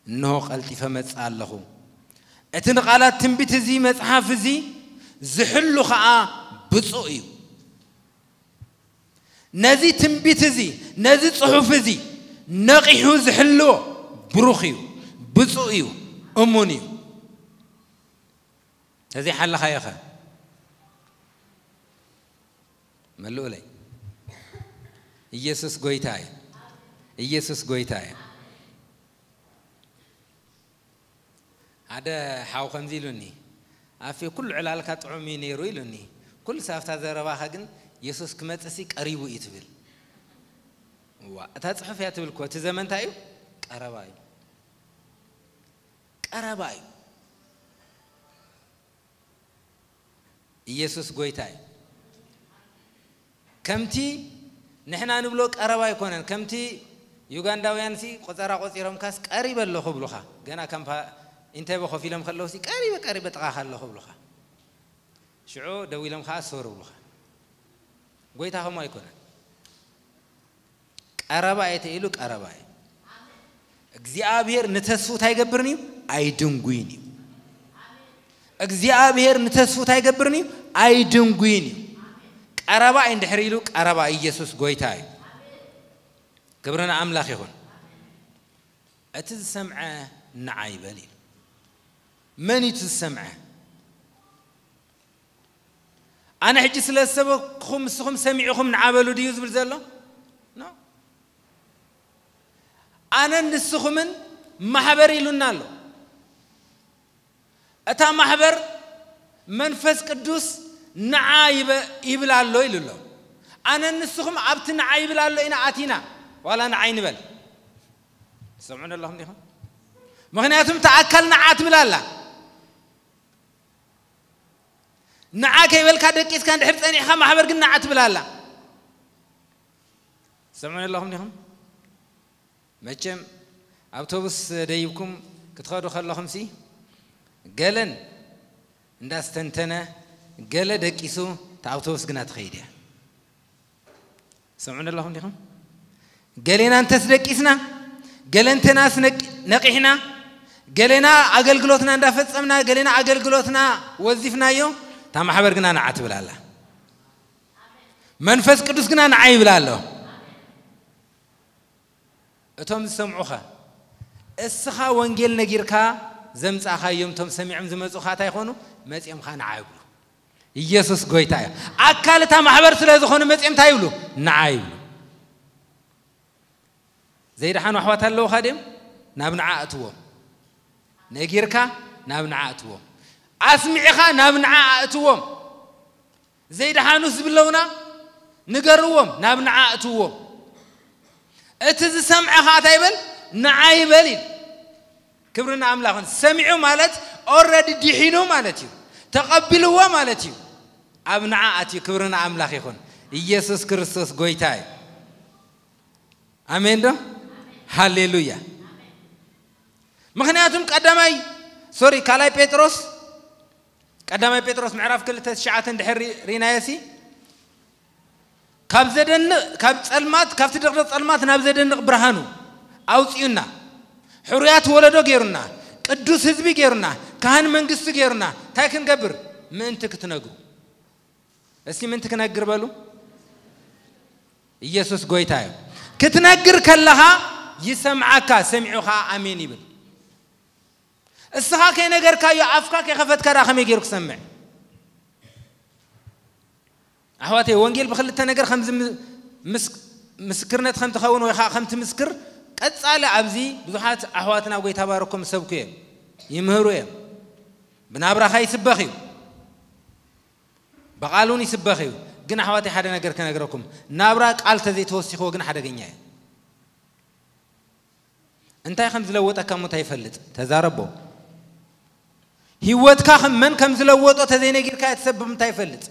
እንሆ ቀልጢፈ መጽእ ኣለኹ። እቲ ንቓላት ትንቢት እዚ መጽሓፍ እዚ ዝሕሉ ኸዓ ብፁዕ እዩ። ነዚ ትንቢት እዚ፣ ነዚ ጽሑፍ እዚ ነቒሑ ዝሕልዎ ብሩኽ እዩ፣ ብፁዕ እዩ፣ እሙን እዩ። እዚ ሓለኻዮ ኸ? መልኡለይ። ኢየሱስ ጎይታ እዩ። ኢየሱስ ጎይታ እዩ። ሓደ ሓው ከምዚ ኢሉኒ፣ ኣፌ ኩሉ ዕላልካ ጥዑም እዩ ነይሩ ኢሉኒ። ኩሉ ሳብታ ዘረባኻ ግን የሱስ ክመጽእ ሲ ቀሪቡ እዩ ትብል። ዋ፣ እታ ጽሑፍ እያ ትብል እኮ፣ እቲ ዘመን እንታይ እዩ? ቀረባ እዩ። ቀረባ እዩ። ኢየሱስ ጎይታ እዩ። ከምቲ ንሕና ንብሎ ቀረባ ኣይኮነን። ከምቲ ዩጋንዳውያን ሲ ቆጸራ ቆጺሮም ካስ ቀሪበ ኣለኹ ብሉኻ። ገና ከም ፓ-፣ ኢንተበ ኮፍ ኢሎም ከለዉ ሲ ቀሪበ፣ ቀሪበ ጥቓኻ ኣለኹ ብሉኻ። ሽዑ ደው ኢሎም ከኣ ሶር ብሉኻ። ጎይታ ከምኡ ኣይኮነን። ቀረባ እየ ተኢሉ ቀረባ እዩ። እግዚኣብሔር ንተስፉ እንታይ ይገብርን እዩ? ኣይድንጉይን እዩ። እግዚኣብሔር ንተስፉ እንታይ ይገብርን እዩ? ኣይድንጉይን እዩ። ቀረባ እዩ እንድሕር ኢሉ ቀረባ ኢየሱስ ጎይታ እዩ። ክብሪ ንኣምላኽ ይኹን። እቲ ዝሰምዐ ንዓ ይበል ኢሉ። መን እዩ እቲ ዝሰምዐ? ኣነ ሕጂ ስለ ዝሰበክኹም ንስኹም ሰሚዕኹም ንዓ በሉ ድዩ ዝብል ዘሎ? ኖ። ኣነን ንስኹምን ማሕበር ኢሉና ኣሎ። እታ ማሕበር መንፈስ ቅዱስ ንዓ ይበ-፣ ይብል ኣሎ ኢሉ ኣሎ። ኣነን ንስኹም ኣብቲ ንዓ ይብል ኣሎ ኢና ኣቲና፣ ዋላ ንዓ ይንበል። ትሰምዑኒ ኣለኹም ዲኹም? ምኽንያቱም እታ ኣካል ንዓ ትብል ኣላ። ንዓ ከይበልካ ደቂስካ እንድሕር ጸኒሕካ ማሕበር ግን ንዓ ትብል ኣላ። ትሰምዑኒ ኣለኹም ዲኹም? መቸም ኣውቶቡስ ደይብኩም ክትኸዱ ከለኹም ሲ ገለን እንዳስተንተነ ገለ ደቂሱ እታ ኣውቶቡስ ግና ትኸይድ እያ። ትሰምዑኒ ኣለኹም ዲኹም? ገሌና እንተስ ደቂስና፣ ገለ እንተናስ ነቂ-፣ ነቂሕና፣ ገሌና ኣገልግሎትና እንዳፈጸምና፣ ገሌና ኣገልግሎትና ወዚፍናዮ፣ እታ ማሕበር ግና ንዓ ትብል ኣላ። መንፈስ ቅዱስ ግና ንዓ ይብል ኣሎ። እቶም ዝሰምዑኸ? እስኻ ወንጌል ነጊርካ ዘምጻእኻዮም እቶም ሰሚዖም ዝመጹኻ እንታይ ይኾኑ? መጺኦም ኸኣ ንዓ ይብሉ። ኢየሱስ ጎይታ እዩ። ኣካል እታ ማሕበር ስለ ዝኾኑ መጺኦም እንታይ ይብሉ? ንዓ ይብሉ። ዘይደሓኑ ኣሕዋት ኣለዉኻ ድዮም? ናብ ንዓ ኣእትዎም። ነጊርካ ናብ ንዓ ኣእትዎም። ኣስሚዕኻ ናብ ንዓ ኣእትዎም። ዘይደሓኑስ ዝብለውና ንገርዎም፣ ናብ ንዓ ኣእትዎም። እቲ ዝሰምዐ ኸዓ እንታይ ይበል? ንዓ ይበል ኢል። ክብሪ ንኣምላኽ ይኹን። ሰሚዑ ማለት ኦልሬዲ ድሒኑ ማለት እዩ። ተቐቢልዎ ማለት እዩ። ኣብ ንዓ ኣትዩ። ክብሪ ንኣምላኽ ይኹን። ኢየሱስ ክርስቶስ ጎይታ እዩ። ኣሜን ዶ? ሃሌሉያ። ምኽንያቱም ቀዳማይ፣ ሶሪ፣ ካልኣይ ጴጥሮስ፣ ቀዳማይ ጴጥሮስ ምዕራፍ ክልተ ትሽዓተ እንድሕር ሪ-፣ ሪናዮ ሲ፣ ካብ ዘደንቕ፣ ካብ ጸልማት፣ ካብቲ ድቕድቕ ጸልማት ናብ ዘደንቕ ብርሃኑ ኣውጺኡና፣ ሕሩያት ወለዶ ገይሩና፣ ቅዱስ ህዝቢ ገይሩና፣ ካህን መንግስቲ ገይሩና፣ እንታይ ክንገብር? ምእንቲ ክትነግሩ። እስቲ ምእንቲ ክነግር በሉ። ኢየሱስ ጎይታ እዩ። ክትነግር ከለኻ ይሰምዓካ፣ ሰሚዑ ኸዓ ኣሜን ይብል። እስኻ ከይነገርካዮ ኣፍካ ከይኸፈትካ ደኣ ከመይ ገይሩ ክሰምዕ? ኣሕዋተይ፣ ወንጌል ብክልተ ነገር ከም ዝም-፣ ምስ-፣ ምስክርነት ከም ትኸውን ወይ ኸዓ ከም ትምስክር፣ ቀጻሊ ኣብዚ ብዙሓት ኣሕዋትና ጎይታ ባረኮም ይሰብኩ እዮም፣ ይምህሩ እዮም። ብናብራኻ ይስበኽ እዩ። ብቓል እውን ይስበኽ እዩ። ግን ኣሕዋተይ ሓደ ነገር ክነግረኩም፣ ናብራ ቃል ተዘይተወሲኽዎ ግን ሓደገኛ እዩ። እንታይ ከም ዝለወጠካ እሞ እንታይ ይፈልጥ? ተዛረቦ። ህይወትካ ከም መን ከም ዝለወጦ ተዘይነጊርካዮ እቲ ሰብ ብምንታይ ይፈልጥ?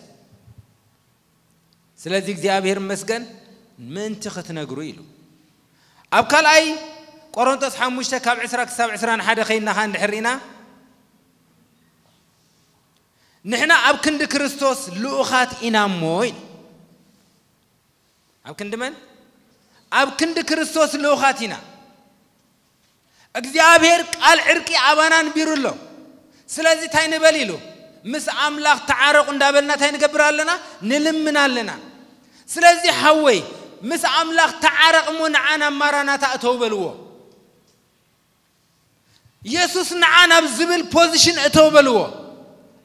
ስለዚ እግዚኣብሔር ይመስገን ምእንቲ ክትነግሩ ኢሉ። ኣብ ካልኣይ ቆሮንቶስ ሓሙሽተ ካብ ዕስራ ክሳብ ዕስራን ሓደ ከይድና ኸኣ እንድሕር ርኢና፣ ንሕና ኣብ ክንዲ ክርስቶስ ልኡኻት ኢና እሞ ኢሉ። ኣብ ክንዲ መን? ኣብ ክንዲ ክርስቶስ ልኡኻት ኢና። እግዚኣብሔር ቃል ዕርቂ ኣባና ኣንቢሩ ኣሎ። ስለዚ እንታይ ንበል ኢሉ? ምስ ኣምላኽ ተዓረቑ እንዳበልና እንታይ ንገብር ኣለና? ንልምን ኣለና። ስለዚ ሓወይ፣ ምስ ኣምላኽ ተዓረቕ እሞ ንዓ ናብ ማራናታ እተው በልዎ። የሱስ ንዓ ናብ ዝብል ፖዚሽን እተው በልዎ።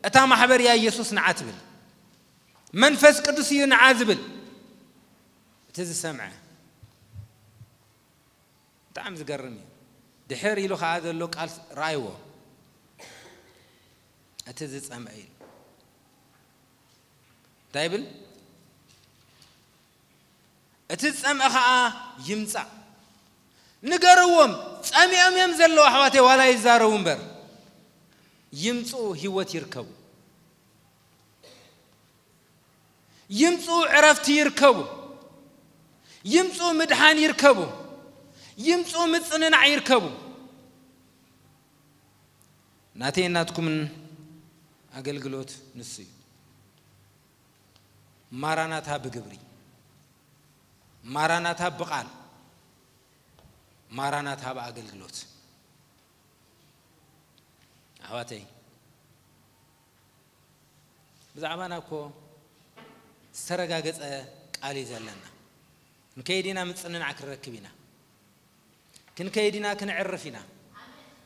እታ ማሕበር እያ የሱስ ንዓ ትብል። መንፈስ ቅዱስ እዩ ንዓ ዝብል። እቲ ዝሰምዐ ብጣዕሚ ዝገርም እዩ። ድሕር ኢሉ ኸዓ ዘሎ ቃል ረኣይዎ። እቲ ዝጸምአ ኢሉ እንታይ ይብል? እቲ ዝጸምአ ኸዓ ይምጻእ። ንገርዎም፣ ጸሚኦም እዮም ዘለዉ ኣሕዋተይ፣ ዋላ ይዛረቡ እምበር። ይምጽኡ፣ ህይወት ይርከቡ። ይምጽኡ፣ ዕረፍቲ ይርከቡ። ይምጽኡ፣ ምድሓን ይርከቡ። ይምጽኡ፣ ምጽንናዕ ይርከቡ። ናተይን ናትኩምን ኣገልግሎት ንሱ እዩ። ማራናታ ብግብሪ፣ ማራናታ ብቓል፣ ማራናታ ብኣገልግሎት። ኣሕዋተይ፣ ብዛዕባና እኮ ዝተረጋገጸ ቃል እዩ ዘለና። ክንከይድ ኢና፣ ምጽንናዕ ክንረክብ ኢና። ክንከይድ ኢና፣ ክንዕርፍ ኢና።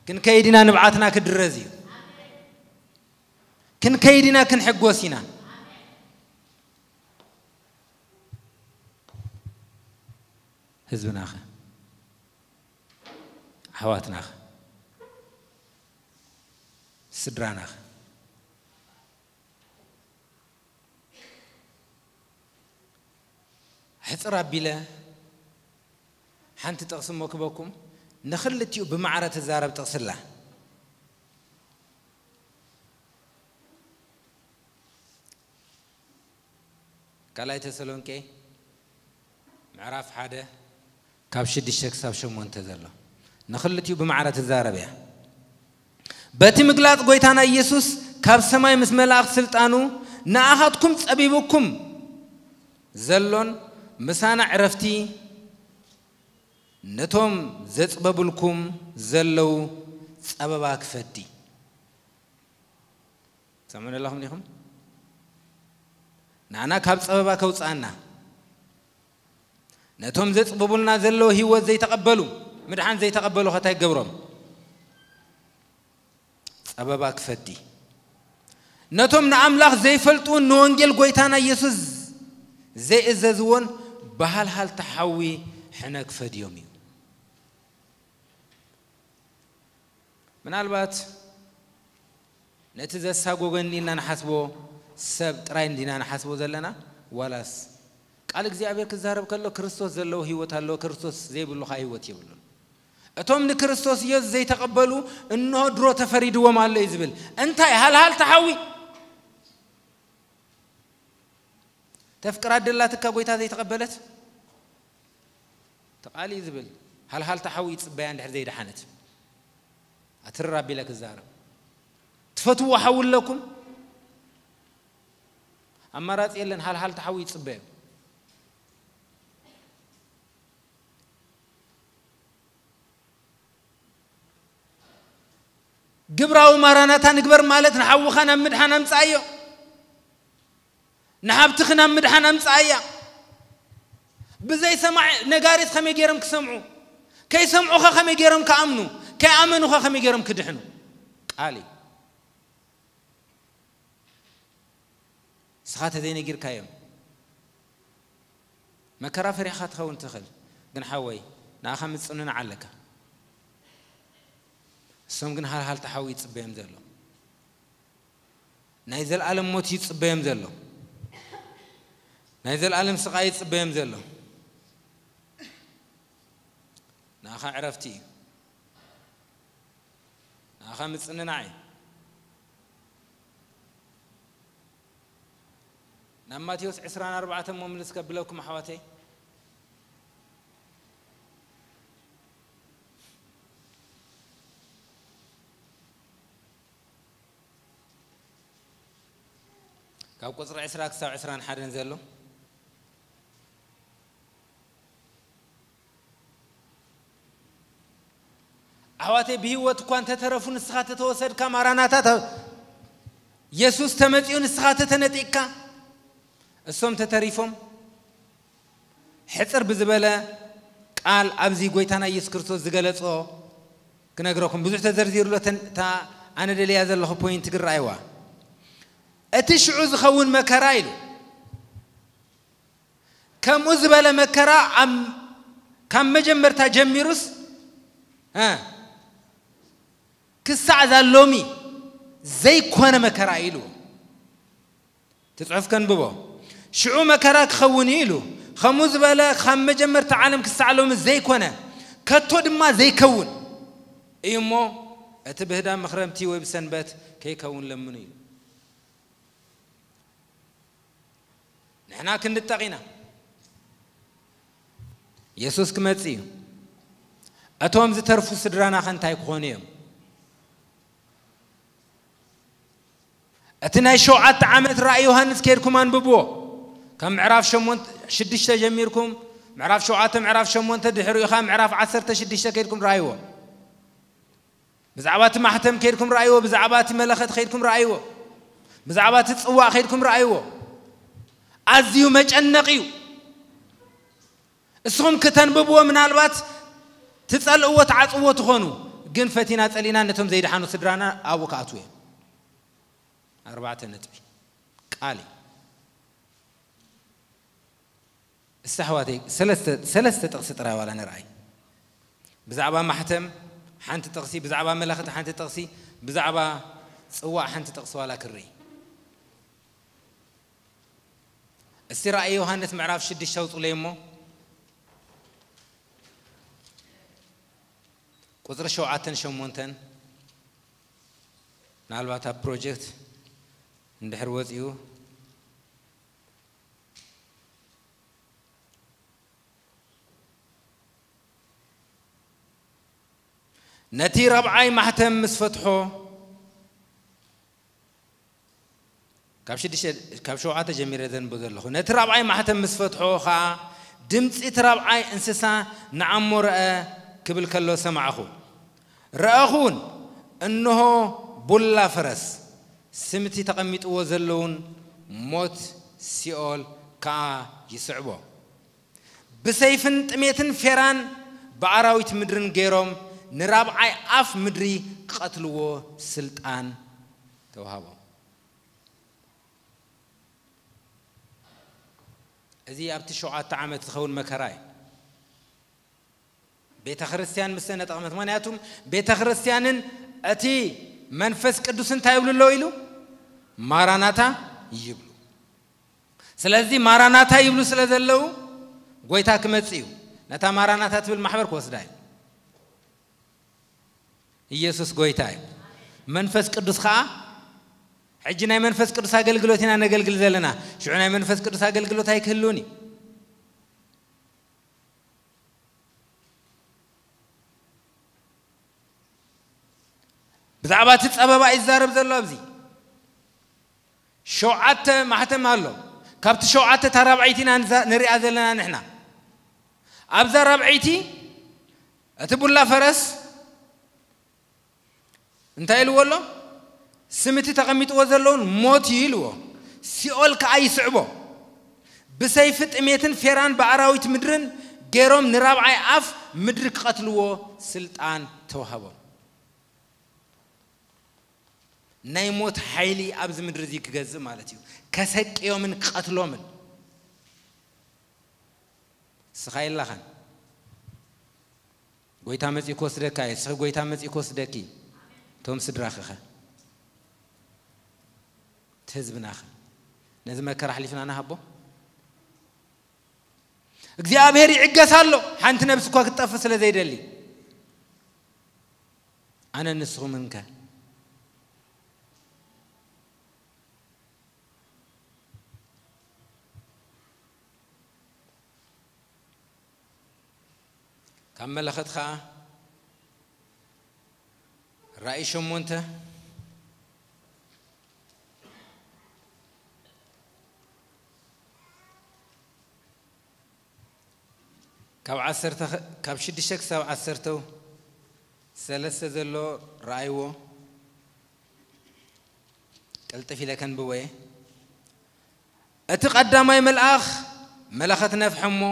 ክንከይድ ኢና፣ ንብዓትና ክድረዝ እዩ። ክንከይድ ኢና፣ ክንሕጎስ ኢና። ህዝብናኸ? ኣሕዋትናኸ? ስድራናኸ? ሕጽር ኣቢለ ሓንቲ ጥቕሲ እሞ ክበኩም፣ ንኽልቲኡ ብማዕረ ትዛረብ ጥቕሲ ኣላ። ካልኣይ ተሰሎንቄ ምዕራፍ ሓደ ካብ ሽዱሽተ ክሳብ ሸሞንተ ዘሎ፣ ንኽልቲኡ ብማዕረ ትዛረብ እያ። በቲ ምግላጽ ጐይታና ኢየሱስ ካብ ሰማይ ምስ መላእኽቲ ስልጣኑ ንኣኻትኩም ጸቢቡኩም ዘሎን ምሳና ዕረፍቲ ነቶም ዘጽበቡልኩም ዘለዉ ጸበባ ክፈዲ። ትሰምዑ ኣለኹም ዲኹም? ንዓና ካብ ጸበባ ከውጽኣና፣ ነቶም ዘጽብቡልና ዘለዉ ህይወት ዘይተቐበሉ፣ ምድሓን ዘይተቐበሉ ኸ እንታይ ይገብሮም? ጸበባ ክፈዲ። ነቶም ንኣምላኽ ዘይፈልጥውን ንወንጌል ጐይታና ኢየሱስ ዘይእዘዝዎን ብሃልሃልታ ሓዊ ሕነ ክፈድዮም እዩ። ምናልባት ነቲ ዘሳጎገኒ ኢልና ንሓስቦ ሰብ ጥራይ እንዲና ንሓስቦ ዘለና፣ ዋላስ ቃል እግዚኣብሔር ክዛረብ ከሎ ክርስቶስ ዘለዎ ህይወት ኣለዎ፣ ክርስቶስ ዘይብሉ ኸኣ ህይወት የብሉን። እቶም ንክርስቶስ ኢየሱስ ዘይተቐበሉ እንሆ ድሮ ተፈሪድዎም ኣሎ እዩ ዝብል። እንታይ ሃልሃል ተሓዊ? ተፍቅራ ደላትካ ጐይታ ዘይተቐበለት? ተቓሊ እዩ ዝብል። ሃልሃል ተሓዊ ይጽበያ እንድሕር ዘይደሓነት። ኣትርር ኣቢለ ክዛረብ። ትፈትዎ ሓዊ ኣለኩም? ኣማራጺ የለን፣ ሃልሃል ተሓዊ ይጽበዮ። ግብራዊ ማራናታ ንግበር ማለት ንሓውኻ ናብ ምድሓን ኣምጽኣዮ። ንሃብትኺ ናብ ምድሓን ኣምጽኣያ። ብዘይ ሰማዕ ነጋሪት ከመይ ገይሮም ክሰምዑ? ከይሰምዑኸ ከመይ ገይሮም ክኣምኑ? ከይኣመኑኸ ከመይ ገይሮም ክድሕኑ? ቃል እዩ። ንስኻ ተዘይነጊርካዮም መከራ ፈሪሕኻ ትኸውን ትኽእል። ግን ሓወይ፣ ንኣኻ ምጽንናዕ ኣለካ። እሶም ግን ሃልሃል ተሓዊ ይጽበዮም ዘሎ። ናይ ዘልኣለም ሞት ይጽበዮም ዘሎ። ናይ ዘልኣለም ስቓይ ይጽበዮም ዘሎ። ንኣኻ ዕረፍቲ እዩ። ንኣኻ ምጽንናዕ እዩ። ናብ ማቴዎስ ዕስራን ኣርባዕተን እሞ ምልስ ከብለኩም ኣሕዋተይ። ካብ ቁጽሪ ዕስራ ክሳብ ዕስራን ሓደን ዘሎ። ኣሕዋተይ ብህይወት እኳ እንተተረፉ ንስኻ ተተወሰድካ ማራናታ ተ-፣ የሱስ ተመጺኡ ንስኻ ተተነጢቅካ፣ እሶም ተተሪፎም፣ ሕጽር ብዝበለ ቃል ኣብዚ ጎይታና ኢየሱስ ክርስቶስ ዝገለጾ ክነግረኩም። ብዙሕ ተዘርዚሩሎ፣ እታ ኣነ ደልያ ዘለኹ ፖይንት ግን ረኣይዋ። እቲ ሽዑ ዝኸውን መከራ ኢሉ፣ ከምኡ ዝበለ መከራ ካብ መጀመርታ ጀሚሩስ ክሳዕ ዛሎሚ ዘይኮነ መከራ ኢሉ። ትጽሑፍ ከንብቦ። ሽዑ መከራ ክኸውን እዩ ኢሉ። ከምኡ ዝበለ ካብ መጀመርታ ዓለም ክሳዕ ሎሚ ዘይኮነ፣ ከቶ ድማ ዘይከውን እዩ እሞ፣ እቲ ብህዳም መኽረምቲ ወይ ብሰንበት ከይከውን ለምኑ ኢሉ። ንሕና ክንድጠቕ ኢና። የሱስ ክመጽእ እዩ። እቶም ዝተርፉ ስድራና ከ እንታይ ክኾኑ እዮም? እቲ ናይ ሸውዓተ ዓመት ራእይ ዮሃንስ ከይድኩም ኣንብብዎ። ካብ ምዕራፍ ሸሞንተ፣ ሽዱሽተ ጀሚርኩም፣ ምዕራፍ ሸውዓተ፣ ምዕራፍ ሸሞንተ፣ ድሕሪኡ ኸኣ ምዕራፍ ዓሰርተ ሽዱሽተ ከይድኩም ረኣይዎ። ብዛዕባ እቲ ማሕተም ከይድኩም ረኣይዎ፣ ብዛዕባ እቲ መለኸት ከይድኩም ረኣይዎ፣ ብዛዕባ እቲ ጽዋእ ከይድኩም ረኣይዎ። ኣዝዩ መጨነቕ እዩ። እስኹም ክተንብብዎ ምናልባት ትጸልእዎ፣ ትዓጽዎ ትኾኑ፣ ግን ፈቲና ጸሊና ነቶም ዘይደሓኑ ስድራና ኣብኡ ክኣትዉ እዮም። ኣርባዕተ ነጥቢ ቃል እዩ። እስቲ ኣሕዋተይ፣ ሰለስተ፣ ሰለስተ ጥቕሲ ጥራይ ዋላ ንርኣይ። ብዛዕባ ማሕተም ሓንቲ ጥቕሲ፣ ብዛዕባ መለኸት ሓንቲ ጥቕሲ፣ ብዛዕባ ጽዋእ ሓንቲ ጥቕሲ ዋላ ክርኢ። እስቲ ራእይ ዮሃንስ ምዕራፍ ሽዱሽተ ኣውጽለይ እሞ፣ ቁጽሪ ሸውዓተን ሸሞንተን፣ ምናልባት ኣብ ፕሮጀክት እንድሕር ወጺኡ፣ ነቲ ራብዓይ ማሕተም ምስ ፈትሖ፣ ካብ ሽዱሽተ፣ ካብ ሸውዓተ ጀሚረ ዘንብብ ዘለኹ። ነቲ ራብዓይ ማሕተም ምስ ፈትሖ ኸኣ፣ ድምጺ እቲ ራብዓይ እንስሳ ንዓሞ ረኣ ክብል ከሎ ሰማዕኹ። ረኣኹ እውን፣ እንሆ፣ ቡላ ፈረስ፣ ስምቲ ተቐሚጥዎ ዘለውን ሞት ሲኦል ከኣ ይስዕቦ። ብሰይፍን ጥሜትን ፌራን ብኣራዊት ምድርን ገይሮም ንራብዓይ ኣፍ ምድሪ ክቐትልዎ ስልጣን ተዋሃቦም። እዚ ኣብቲ ሸውዓተ ዓመት ዝኸውን መከራ እዩ። ቤተ ክርስቲያን ምስ ተነጠቕመት፣ ምኽንያቱም ቤተ ክርስቲያንን እቲ መንፈስ ቅዱስ እንታይ ይብሉ ኣለዉ ኢሉ? ማራናታ ይብሉ። ስለዚ ማራናታ ይብሉ ስለ ዘለዉ፣ ጎይታ ክመጽእ እዩ። ነታ ማራናታ ትብል ማሕበር ክወስዳ እዩ። ኢየሱስ ጎይታ እዩ። መንፈስ ቅዱስ ኸኣ፣ ሕጂ ናይ መንፈስ ቅዱስ ኣገልግሎት ኢና ነገልግል ዘለና። ሽዑ ናይ መንፈስ ቅዱስ ኣገልግሎት ኣይክህልውን እዩ። ብዛዕባ እቲ ጸበባ እዩ ዝዛረብ ዘሎ ኣብዚ። ሸውዓተ ማሕተም ኣሎ። ካብቲ ሸውዓተ እታ ራብዐይቲ ኢና ንዛ-፣ ንሪኣ ዘለና ንሕና። ኣብዛ ራብዐይቲ እቲ ቡላ ፈረስ እንታይ ኢልዎ ኣሎ? ስም እቲ ተቐሚጥዎ ዘለውን ሞት እዩ ኢልዎ። ሲኦል ከኣ ይስዕቦ። ብሰይፊ ጥሜትን ፌራን ብኣራዊት ምድርን ገይሮም ንራብዓይ ኣፍ ምድሪ ክቐትልዎ ስልጣን ተዋህቦም። ናይ ሞት ሓይሊ ኣብዚ ምድሪ እዚ ክገዝእ ማለት እዩ። ከሰቅዮምን ክቐትሎምን። እስኻ የላኻን። ጎይታ መጺኡ ክወስደካ እዩ። እስኺ ጎይታ መጺኡ ክወስደኪ። እቶም ስድራኺኸ? እቲ ህዝብናኸ? ነዚ መከራ ኣሕሊፍና ንሃቦ? እግዚኣብሔር ይዕገስ ኣሎ፣ ሓንቲ ነብሲ እኳ ክትጠፍእ ስለ ዘይደሊ። ኣነ ንስኹም እንከ? ካብ መለኸት ኸኣ ራእይ ሸሞንተ፣ ካብ ዓሰርተ፣ ካብ ሽዱሽተ ክሳብ ዓሰርተ ሰለስተ ዘሎ ረኣይዎ። ቅልጥፍ ኢለ ከንብቦ እየ። እቲ ቀዳማይ መልኣኽ መለኸት ነፍሐ እሞ፣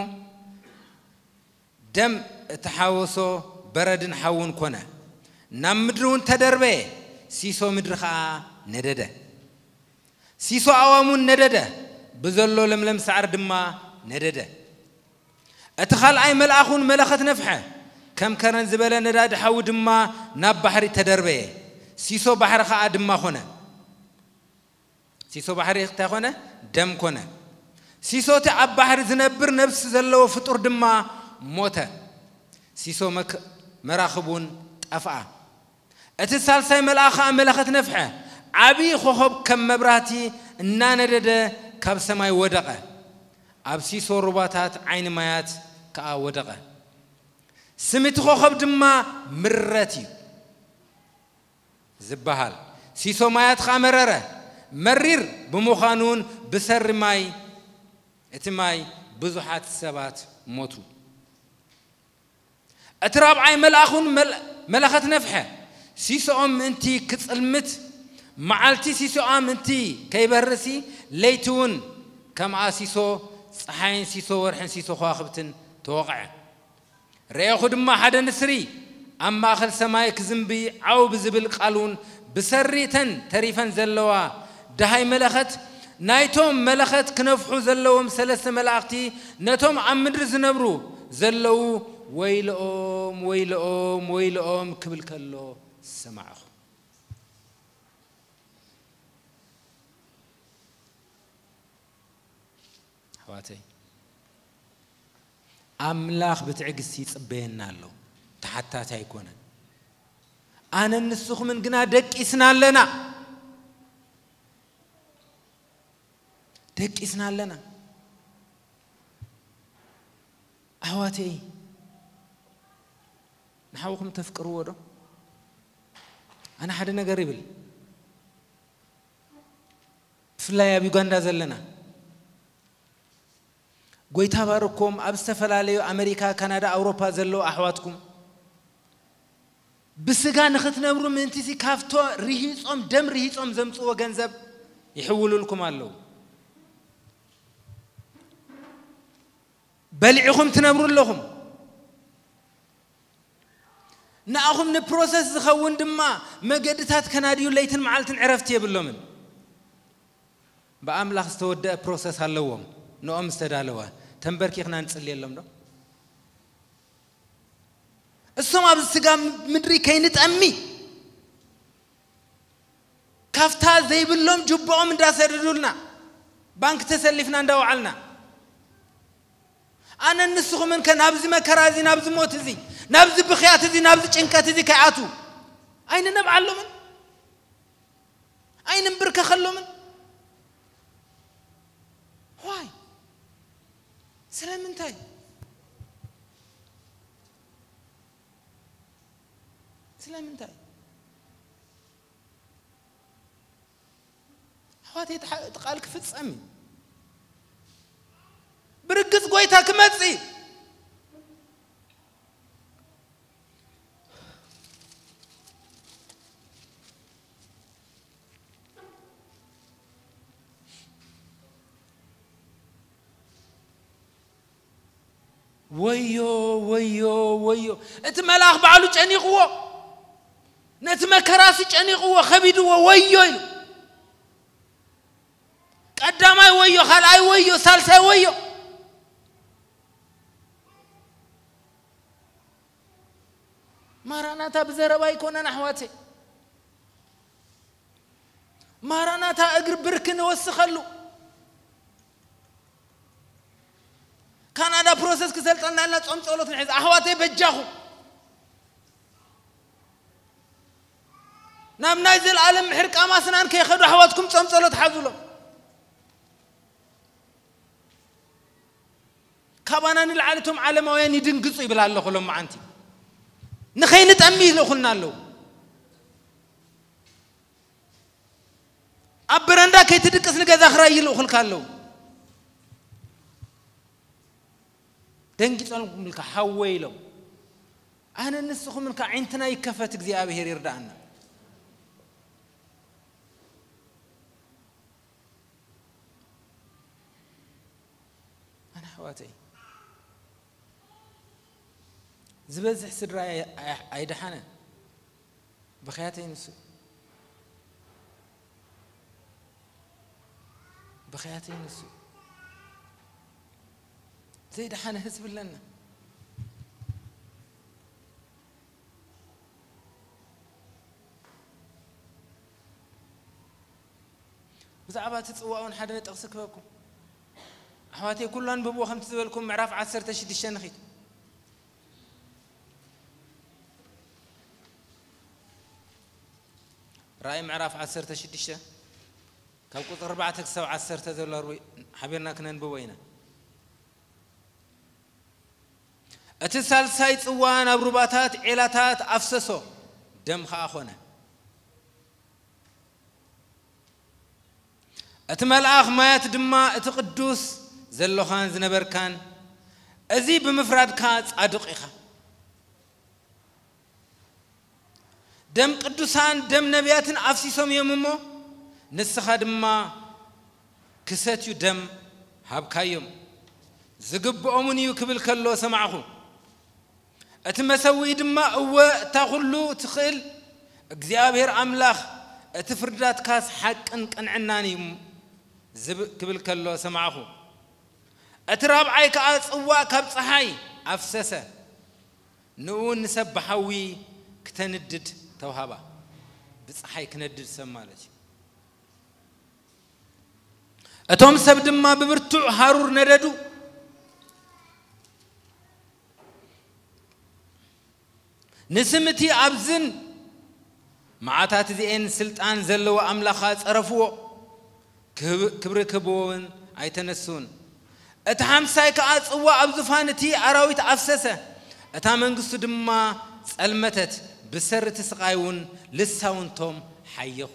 ደም እተሓወሶ በረድን ሓውን ኮነ። ናብ ምድሪ እውን ተደርበየ፣ ሲሶ ምድሪ ኸኣ ነደደ። ሲሶ ኣእዋም እውን ነደደ፣ ብዘሎ ለምለም ሳዕሪ ድማ ነደደ። እቲ ኻልኣይ መልኣኽ እውን መለኸት ነፍሐ፣ ከም ከረን ዝበለ ነዳዲ ሓዊ ድማ ናብ ባሕሪ ተደርበየ፣ ሲሶ ባሕሪ ኸኣ ድማ ኾነ። ሲሶ ባሕሪ እንታይ ኮነ? ደም ኮነ። ሲሶ እቲ ኣብ ባሕሪ ዝነብር ነብሲ ዘለዎ ፍጡር ድማ ሞተ። ሲሶ መክ-፣ መራኽብ እውን ጠፍኣ። እቲ ሳልሳይ መልኣኽ ከኣ መለኸት ነፍሐ። ዓብዪ ኮኸብ ከም መብራህቲ እናነደደ ካብ ሰማይ ወደቐ። ኣብ ሲሶ ሩባታት ዓይኒ ማያት ከኣ ወደቐ። ስም እቲ ኮኸብ ድማ ምረት እዩ ዝበሃል። ሲሶ ማያት ኸኣ መረረ። መሪር ብምዃኑ እውን ብሰሪ ማይ፣ እቲ ማይ ብዙሓት ሰባት ሞቱ። እቲ ራብዓይ መልኣኽ እውን መል-፣ መለኸት ነፍሐ። ሲሶኦም ምእንቲ ክጽልምት፣ መዓልቲ ሲሶኣ ምእንቲ ከይበርሲ፣ ለይቲ እውን ከምኣ ሲሶ፣ ጸሓይን ሲሶ ወርሕን ሲሶ ከዋኽብትን ተወቕዐ። ረኤኹ ድማ ሓደ ንስሪ ኣብ ማእከል ሰማይ ክዝንቢ ዓው ብዝብል ቃል እውን ብሰሪ እተን ተሪፈን ዘለዋ ደሃይ መለኸት፣ ናይቶም መለኸት ክነፍሑ ዘለዎም ሰለስተ መላእኽቲ ነቶም ኣብ ምድሪ ዝነብሩ ዘለዉ፣ "ወይልኦም፣ ወይልኦም፣ ወይልኦም" ክብል ከሎ ሰማዕኹ። ኣሕዋተይ፣ ኣምላኽ ብትዕግስቲ ይጽበየና ኣሎ። ተሓታቲ ኣይኮነን። ኣነን ንስኹምን ግና ደቂስና ኣለና። ደቂስና ኣለና። ኣሕዋተይ፣ ንሓውኹም ተፍቅርዎ ዶ? ኣነ ሓደ ነገር ይብል። ብፍላይ ኣብ ዩጋንዳ ዘለና፣ ጎይታ ባርኮም ኣብ ዝተፈላለዩ ኣመሪካ፣ ካናዳ፣ ኣውሮፓ ዘለዉ ኣሕዋትኩም ብስጋ ንኽትነብሩ ምእንቲሲ ካብቶ ርሂጾም፣ ደም ርሂጾም ዘምጽዎ ገንዘብ ይሕውሉልኩም ኣለዉ። በሊዕኹም ትነብሩ ኣለኹም። ንኣኹም ንፕሮሰስ ዝኸውን ድማ መገድታት ከናድዩ ለይትን መዓልትን ዕረፍቲ የብሎምን። ብኣምላኽ ዝተወደአ ፕሮሰስ ኣለዎም። ንኦም ዝተዳለወ ተንበርኪኽና ንጽልየሎም ዶ? እሶም ኣብዚ ስጋ ምድሪ ከይንጠሚ ካብታ ዘይብሎም ጅቦኦም እንዳሰደዱልና፣ ባንክ ተሰሊፍና እንዳወዓልና፣ ኣነን ንስኹምን ከ ናብዚ መከራ እዚ፣ ናብዚ ሞት እዚ፣ ናብዚ ብኽያት እዚ፣ ናብዚ ጭንቀት እዚ ከይኣቱ ኣይንነብዓሎምን? ኣይንንብርከኸሎምን? ዋይ? ስለምንታይ? ስለምንታይ? ኣሕዋተይ፣ እቲ ሓ-፣ እቲ ቃል ክፍጸም እዩ። ብርግጽ ጎይታ ክመጽእ እዩ። ወዮ፣ ወዮ፣ ወዮ። እቲ መልኣኽ ባዕሉ ጨኒቕዎ። ነቲ መከራሲ ጨኒቕዎ፣ ከቢድዎ፣ ወዮ ኢሉ። ቀዳማይ ወዮ፣ ካልኣይ ወዮ፣ ሳልሳይ ወዮ። ማራናታ ብዘረባ ኣይኮነን ኣሕዋተይ። ማራናታ እግሪ ብርኪ ንወስኸሉ። ካናዳ ፕሮሰስ ክሰልጠና ኢልና ጾም ጸሎት ንሕዝ። ኣሕዋተይ በጃኹም። ናብ ናይ ዘልኣለም ምሕር ቃማስናን ከይኸዱ ኣሕዋትኩም ጾም ጸሎት ሓዙሎም። ካባና ንላዕሊ እቶም ዓለማውያን ይድንግጹ ይብል ኣለኹ ሎማዓንቲ። ንኸይንጠሚ ይልእኹልና ኣለዉ። ኣብ በረንዳ ከይትድቅስ ንገዛ ክራይ ይልእኹልካ ኣለዉ። ደንጊጾም ኢልካ ሓወይ ኢሎም። ኣነ ንስኹምን ከ ዓይንትና ይከፈት፣ እግዚኣብሔር ይርዳእና። ኣሕዋተይ፣ ዝበዝሕ ስድራ ኣይ-፣ ኣይ-፣ ኣይደሓነን። ብኽያተይ ንሱ፣ ብኽያተይ ንሱ ዘይደሓነ ህዝቢ ኣለና። ብዛዕባ እቲ ጽዋ እውን ሓደ ጥቕሲ ክበኩም። ኣሕዋተይ፣ ኩሉ ኣንብብዎ፣ ከምቲ ዝበልኩም ምዕራፍ ዓሰርተ ሽዱሽተ ንኺድ። ራእይ ምዕራፍ ዓሰርተ ሽዱሽተ ካብ ቁጽሪ ኣርባዕተ ክሳብ ዓሰርተ ዘሎ ርዊ-፣ ሓቢርና ክነንብቦ ኢና። እቲ ሳልሳይ ጽዋ ናብ ሩባታት ዔላታት ኣፍሰሶ፣ ደም ኸኣ ኾነ። እቲ መልኣኽ ማያት ድማ፣ እቲ ቅዱስ ዘሎኻን ዝነበርካን፣ እዚ ብምፍራድካ ጻድቕ ኢኻ። ደም ቅዱሳን፣ ደም ነቢያትን ኣፍሲሶም እዮም እሞ፣ ንስኻ ድማ ክሰትዩ ደም ሃብካዮም። ዝግብኦምን እዩ ክብል ከሎ ሰማዕኹ። እቲ መሰውኢ ድማ፣ እወ፣ እታ ኹሉ ትኽእል እግዚኣብሔር ኣምላኽ፣ እቲ ፍርዳትካስ ሓቅን ቅንዕናን እዩ ዝብ-፣ ክብል ከሎ ሰማዕኹ። እቲ ራብዓይ ከኣ ጽዋእ ካብ ጸሓይ ኣፍሰሰ። ንእውን ንሰብ ብሓዊ ክተንድድ ተውሃባ። ብጸሓይ ክነድድ ሰብ ማለት እዩ። እቶም ሰብ ድማ ብብርቱዕ ሃሩር ነደዱ። ንስም እቲ ኣብዝን መዓታት እዚኤን ስልጣን ዘለዎ ኣምላኻ ጸረፍዎ። ክብ-፣ ክብሪ ክህብዎ እውን ኣይተነስኡን። እቲ ሓምሳይ ከኣ ጽዋ ኣብ ዙፋን እቲ ኣራዊት ኣፍሰሰ። እታ መንግስቱ ድማ ጸልመተት፣ ብሰሪ እቲ ስቓይ እውን ልሳውንቶም ሓየኹ።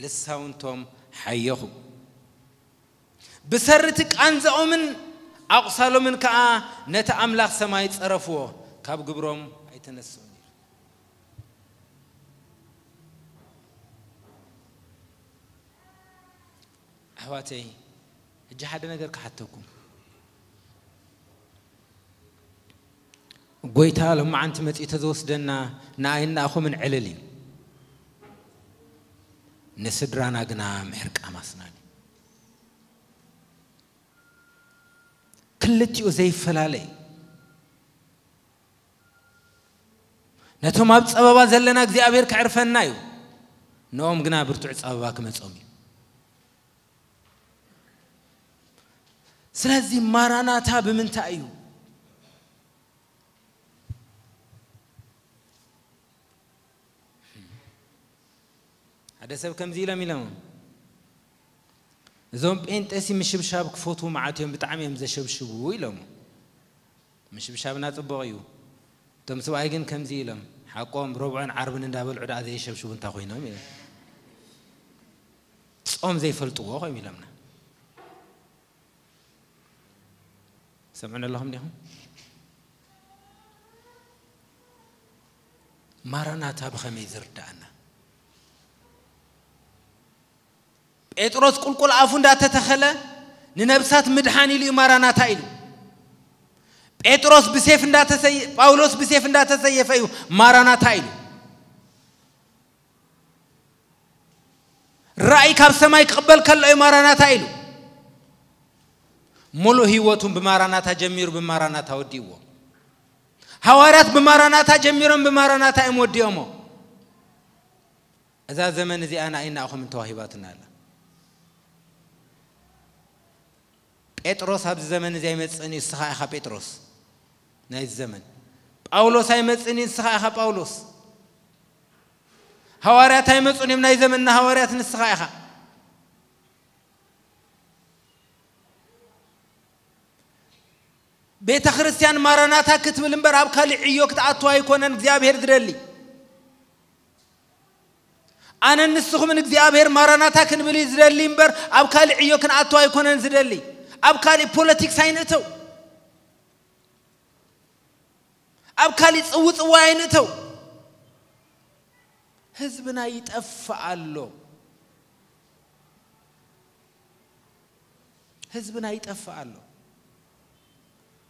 ልሳውንቶም ሓየኹ። ብሰሪ እቲ ቃንዛኦምን ኣቑሳሎምን ከኣ ነቲ ኣምላኽ ሰማይ ጸረፍዎ፣ ካብ ግብሮም ኣይተነስኡን። ኣሕዋተይ፣ ሕጂ ሓደ ነገር ክሓተኩም። ጎይታ ሎማዓንቲ መጺኡ ተዝወስደና ንኣይናኣኹምን ዕልል እዩ። ንስድራና ግና ምሕርቃም ኣስናን እዩ። ክልቲኡ ዘይፈላለ እዩ። ነቶም ኣብ ጸበባ ዘለና እግዚኣብሔር ክዕርፈና እዩ። ንኦም ግና ብርቱዕ ጸበባ ክመጾም እዩ። ስለዚ ማራናታ ብምንታይ እዩ? ሓደ ሰብ ከምዚ ኢሎም ኢሎም፣ "እዞም ጴንጤሲ ምሽብሻብ ክፈትዉ መዓት እዮም፣ ብጣዕሚ እዮም ዘሸብሽቡ" ኢሎም። ምሽብሻብና ጽቡቕ እዩ። እቶም ስብኣይ ግን ከምዚ ኢሎም፣ "ሓቆም፣ ረቡዕን ዓርብን እንዳበልዑ ደኣ ዘየሸብሽቡ እንታይ ኮይኖም?" ኢሎም። ጾም ዘይፈልጥዎ ኮይም ኢሎምና። ሰምዑን ኣለኹም ዲኹም? ማራናታ ብኸመይ ዝርዳኣና? ጴጥሮስ ቁልቁል ኣፉ እንዳተተኸለ ንነብሳት ምድሓን ኢሉ እዩ ማራናታ ኢሉ። ጴጥሮስ ብሴፍ እንዳተሰየ-፣ ጳውሎስ ብሴፍ እንዳተሰየፈ እዩ ማራናታ ኢሉ። ራእይ ካብ ሰማይ ክቕበል ከሎ እዩ ማራናታ ኢሉ። ሙሉእ ህይወቱን ብማራናታ ጀሚሩ ብማራናታ ወዲእዎ። ሃዋርያት ብማራናታ ጀሚሮም ብማራናታ እዮም ወዲኦሞ። እዛ ዘመን እዚኣ ንኣይናኹም እንተዋሂባትና ኣላ። ጴጥሮስ ኣብዚ ዘመን እዚ ኣይመጽእን እዩ፣ ንስኻ ኢኻ ጴጥሮስ ናይዚ ዘመን። ጳውሎስ ኣይመጽእን እዩ፣ ንስኻ ኢኻ ጳውሎስ። ሃዋርያት ኣይመጹን እዮም፣ ናይ ዘመንና ሃዋርያት ንስኻ ኢኻ። ቤተ ክርስቲያን ማራናታ ክትብል እምበር ኣብ ካልእ ዕዮ ክትኣቱ ኣይኮነን እግዚኣብሔር ዝደሊ። ኣነን ንስኹምን እግዚኣብሔር ማራናታ ክንብል እዩ ዝደሊ እምበር ኣብ ካልእ ዕዮ ክንኣቱ ኣይኮነን ዝደሊ። ኣብ ካልእ ፖለቲክስ ኣይንእተው። ኣብ ካልእ ጽውጽዋይ ኣይንእተው። ህዝብና ይጠፍእ ኣሎ። ህዝብና ይጠፍእ ኣሎ።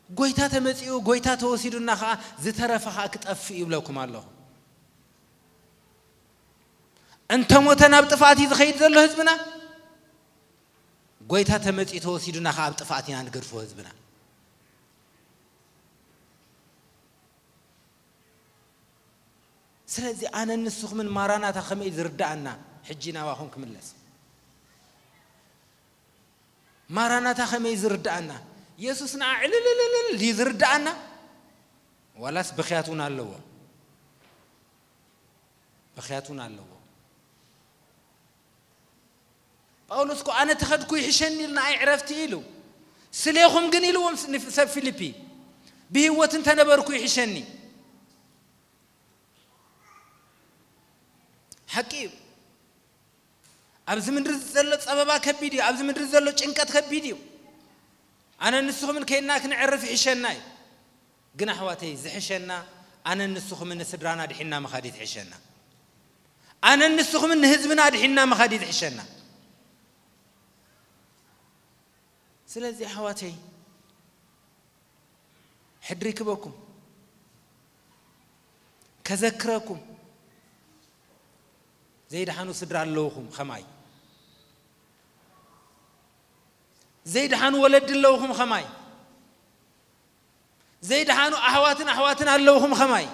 ጎይታ ተመጺኡ፣ ጎይታ ተወሲዱና ኸዓ ዝተረፈ ኸዓ ክጠፍእ ይብለኩም ኣለኹ። እንተ ሞተ ናብ ጥፍኣት እዩ ዝኸይድ ዘሎ ህዝብና። ጎይታ ተመጺኡ ተወሲዱና ኸዓ ኣብ ጥፍኣት ኢና ንገድፎ ህዝብና። ስለዚ ኣነ ንስኹምን ማራናታ ከመይ ዝርዳኣና ሕጂ ናባኹም ክምለስ። ማራናታ ከመይ ዝርዳኣና? የሱስ ንዓ ዕልልልልል ድዩ ዝርዳኣና? ዋላስ ብኽያት እውን ኣለዎ? ብኽያት እውን ኣለዎ። ጳውሎስ እኮ ኣነ ተኸድኩ ይሕሸኒ ኢሉ ንኣይ ዕረፍቲ ኢሉ። ስሌኹም ግን ኢልዎም ስ-፣ ንፍ-፣ ሰብ ፊልፒ፣ ብህይወት እንተነበርኩ ይሕሸኒ። ሓቂ እዩ። ኣብዚ ምድሪ ዘሎ ጸበባ ከቢድ እዩ። ኣብዚ ምድሪ ዘሎ ጭንቀት ከቢድ እዩ። ኣነ ንስኹምን ከይድና ክንዕርፍ ይሕሸና እዩ። ግን ኣሕዋተይ፣ ዝሕሸና ኣነ ንስኹምን ንስድራና ድሒና ምኻድ እዩ ዝሕሸና። ኣነ ንስኹምን ንህዝብና ድሒና ምኻድ እዩ ዝሕሸና። ስለዚ ኣሕዋተይ፣ ሕድሪ ክበኩም፣ ከዘክረኩም፣ ዘይድሓኑ ስድራ ኣለውኹም ኸማይ፣ ዘይድሓኑ ወለዲ ኣለውኹም ኸማይ፣ ዘይድሓኑ ኣሕዋትን ኣሕዋትን ኣለውኹም ኸማይ።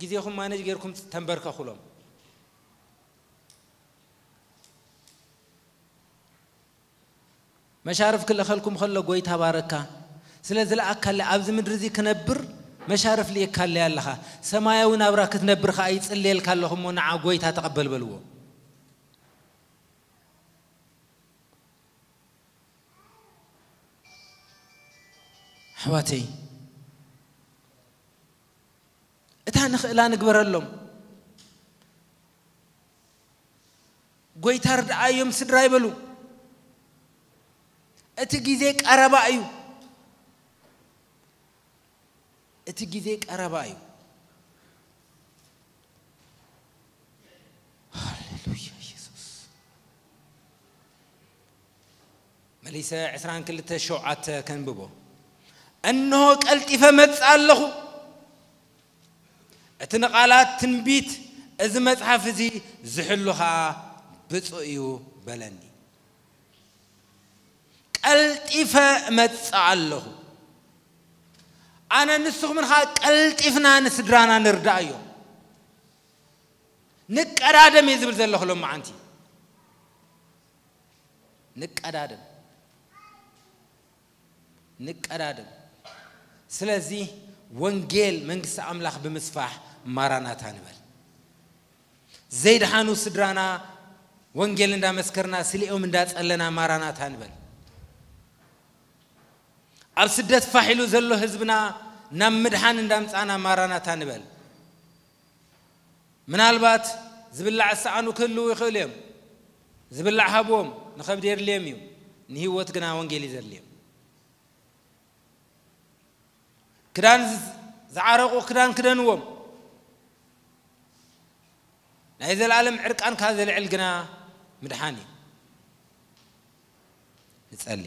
ግዜኹም ማነጅ ጌርኩም ተንበርከኹሎም። መሻርፍ ክልእኸልኩም ከሎ ጎይታ ባረካ። ስለ ዝለኣካለይ ኣብዚ ምድሪ እዚ ክነብር መሻርፍ ልኢካለይ ኣለኻ። ሰማያዊ ናብራ ክትነብር ኸኣ ይጽልየልካ ኣለኹ እሞ ንዓ ጎይታ ተቐበል በልዎ። ኣሕዋተይ፣ እታ ንኽእላ ንግበረሎም። ጎይታ ርድኣዮም ስድራይ በሉ። እቲ ግዜ ቀረባ እዩ። እቲ ግዜ ቀረባ እዩ። ሃሌሉያ ኢየሱስ። መሊሰ ዕስራን ክልተ ሸውዓተ ከንብቦ። እንሆ ቀልጢፈ መጽእ ኣለኹ። እቲ ንቓላት ትንቢት እዚ መጽሓፍ እዚ ዝሕሉ ኸኣ ብፁእ እዩ በለኒ። ቀልጢፈ እመጽእ ኣለኹ። ኣነ ንስኹምን ኸኣ ቀልጢፍና ንስድራና ንርዳእዮም። ንቀዳደም እየ ዝብል ዘለኹ ሎመዓንቲ። ንቀዳደም። ንቀዳደም። ስለዚ ወንጌል መንግስቲ ኣምላኽ ብምስፋሕ ማራናታ ንበል። ዘይድሓኑ ስድራና ወንጌል እንዳመስከርና ስሊኦም እንዳጸለና ማራናታ ንበል። ኣብ ስደት ፋሕ ኢሉ ዘሎ ህዝብና ናብ ምድሓን እንዳምጻና ማራናታ ንበል። ምናልባት ዝብላዕ ዝሰኣኑ ክህልዉ ይኽእሉ እዮም። ዝብላዕ ሃብዎም፣ ንኸብዲ የድልዮም እዩ። ንህይወት ግና ወንጌል እዩ ዘድልዮም። ክዳን ዝ-፣ ዝዓረቑ ክዳን ክደንዎም። ናይ ዘለኣለም ዕርቃንካ ዘልዕል ግና ምድሓን እዩ። ንጸሊ።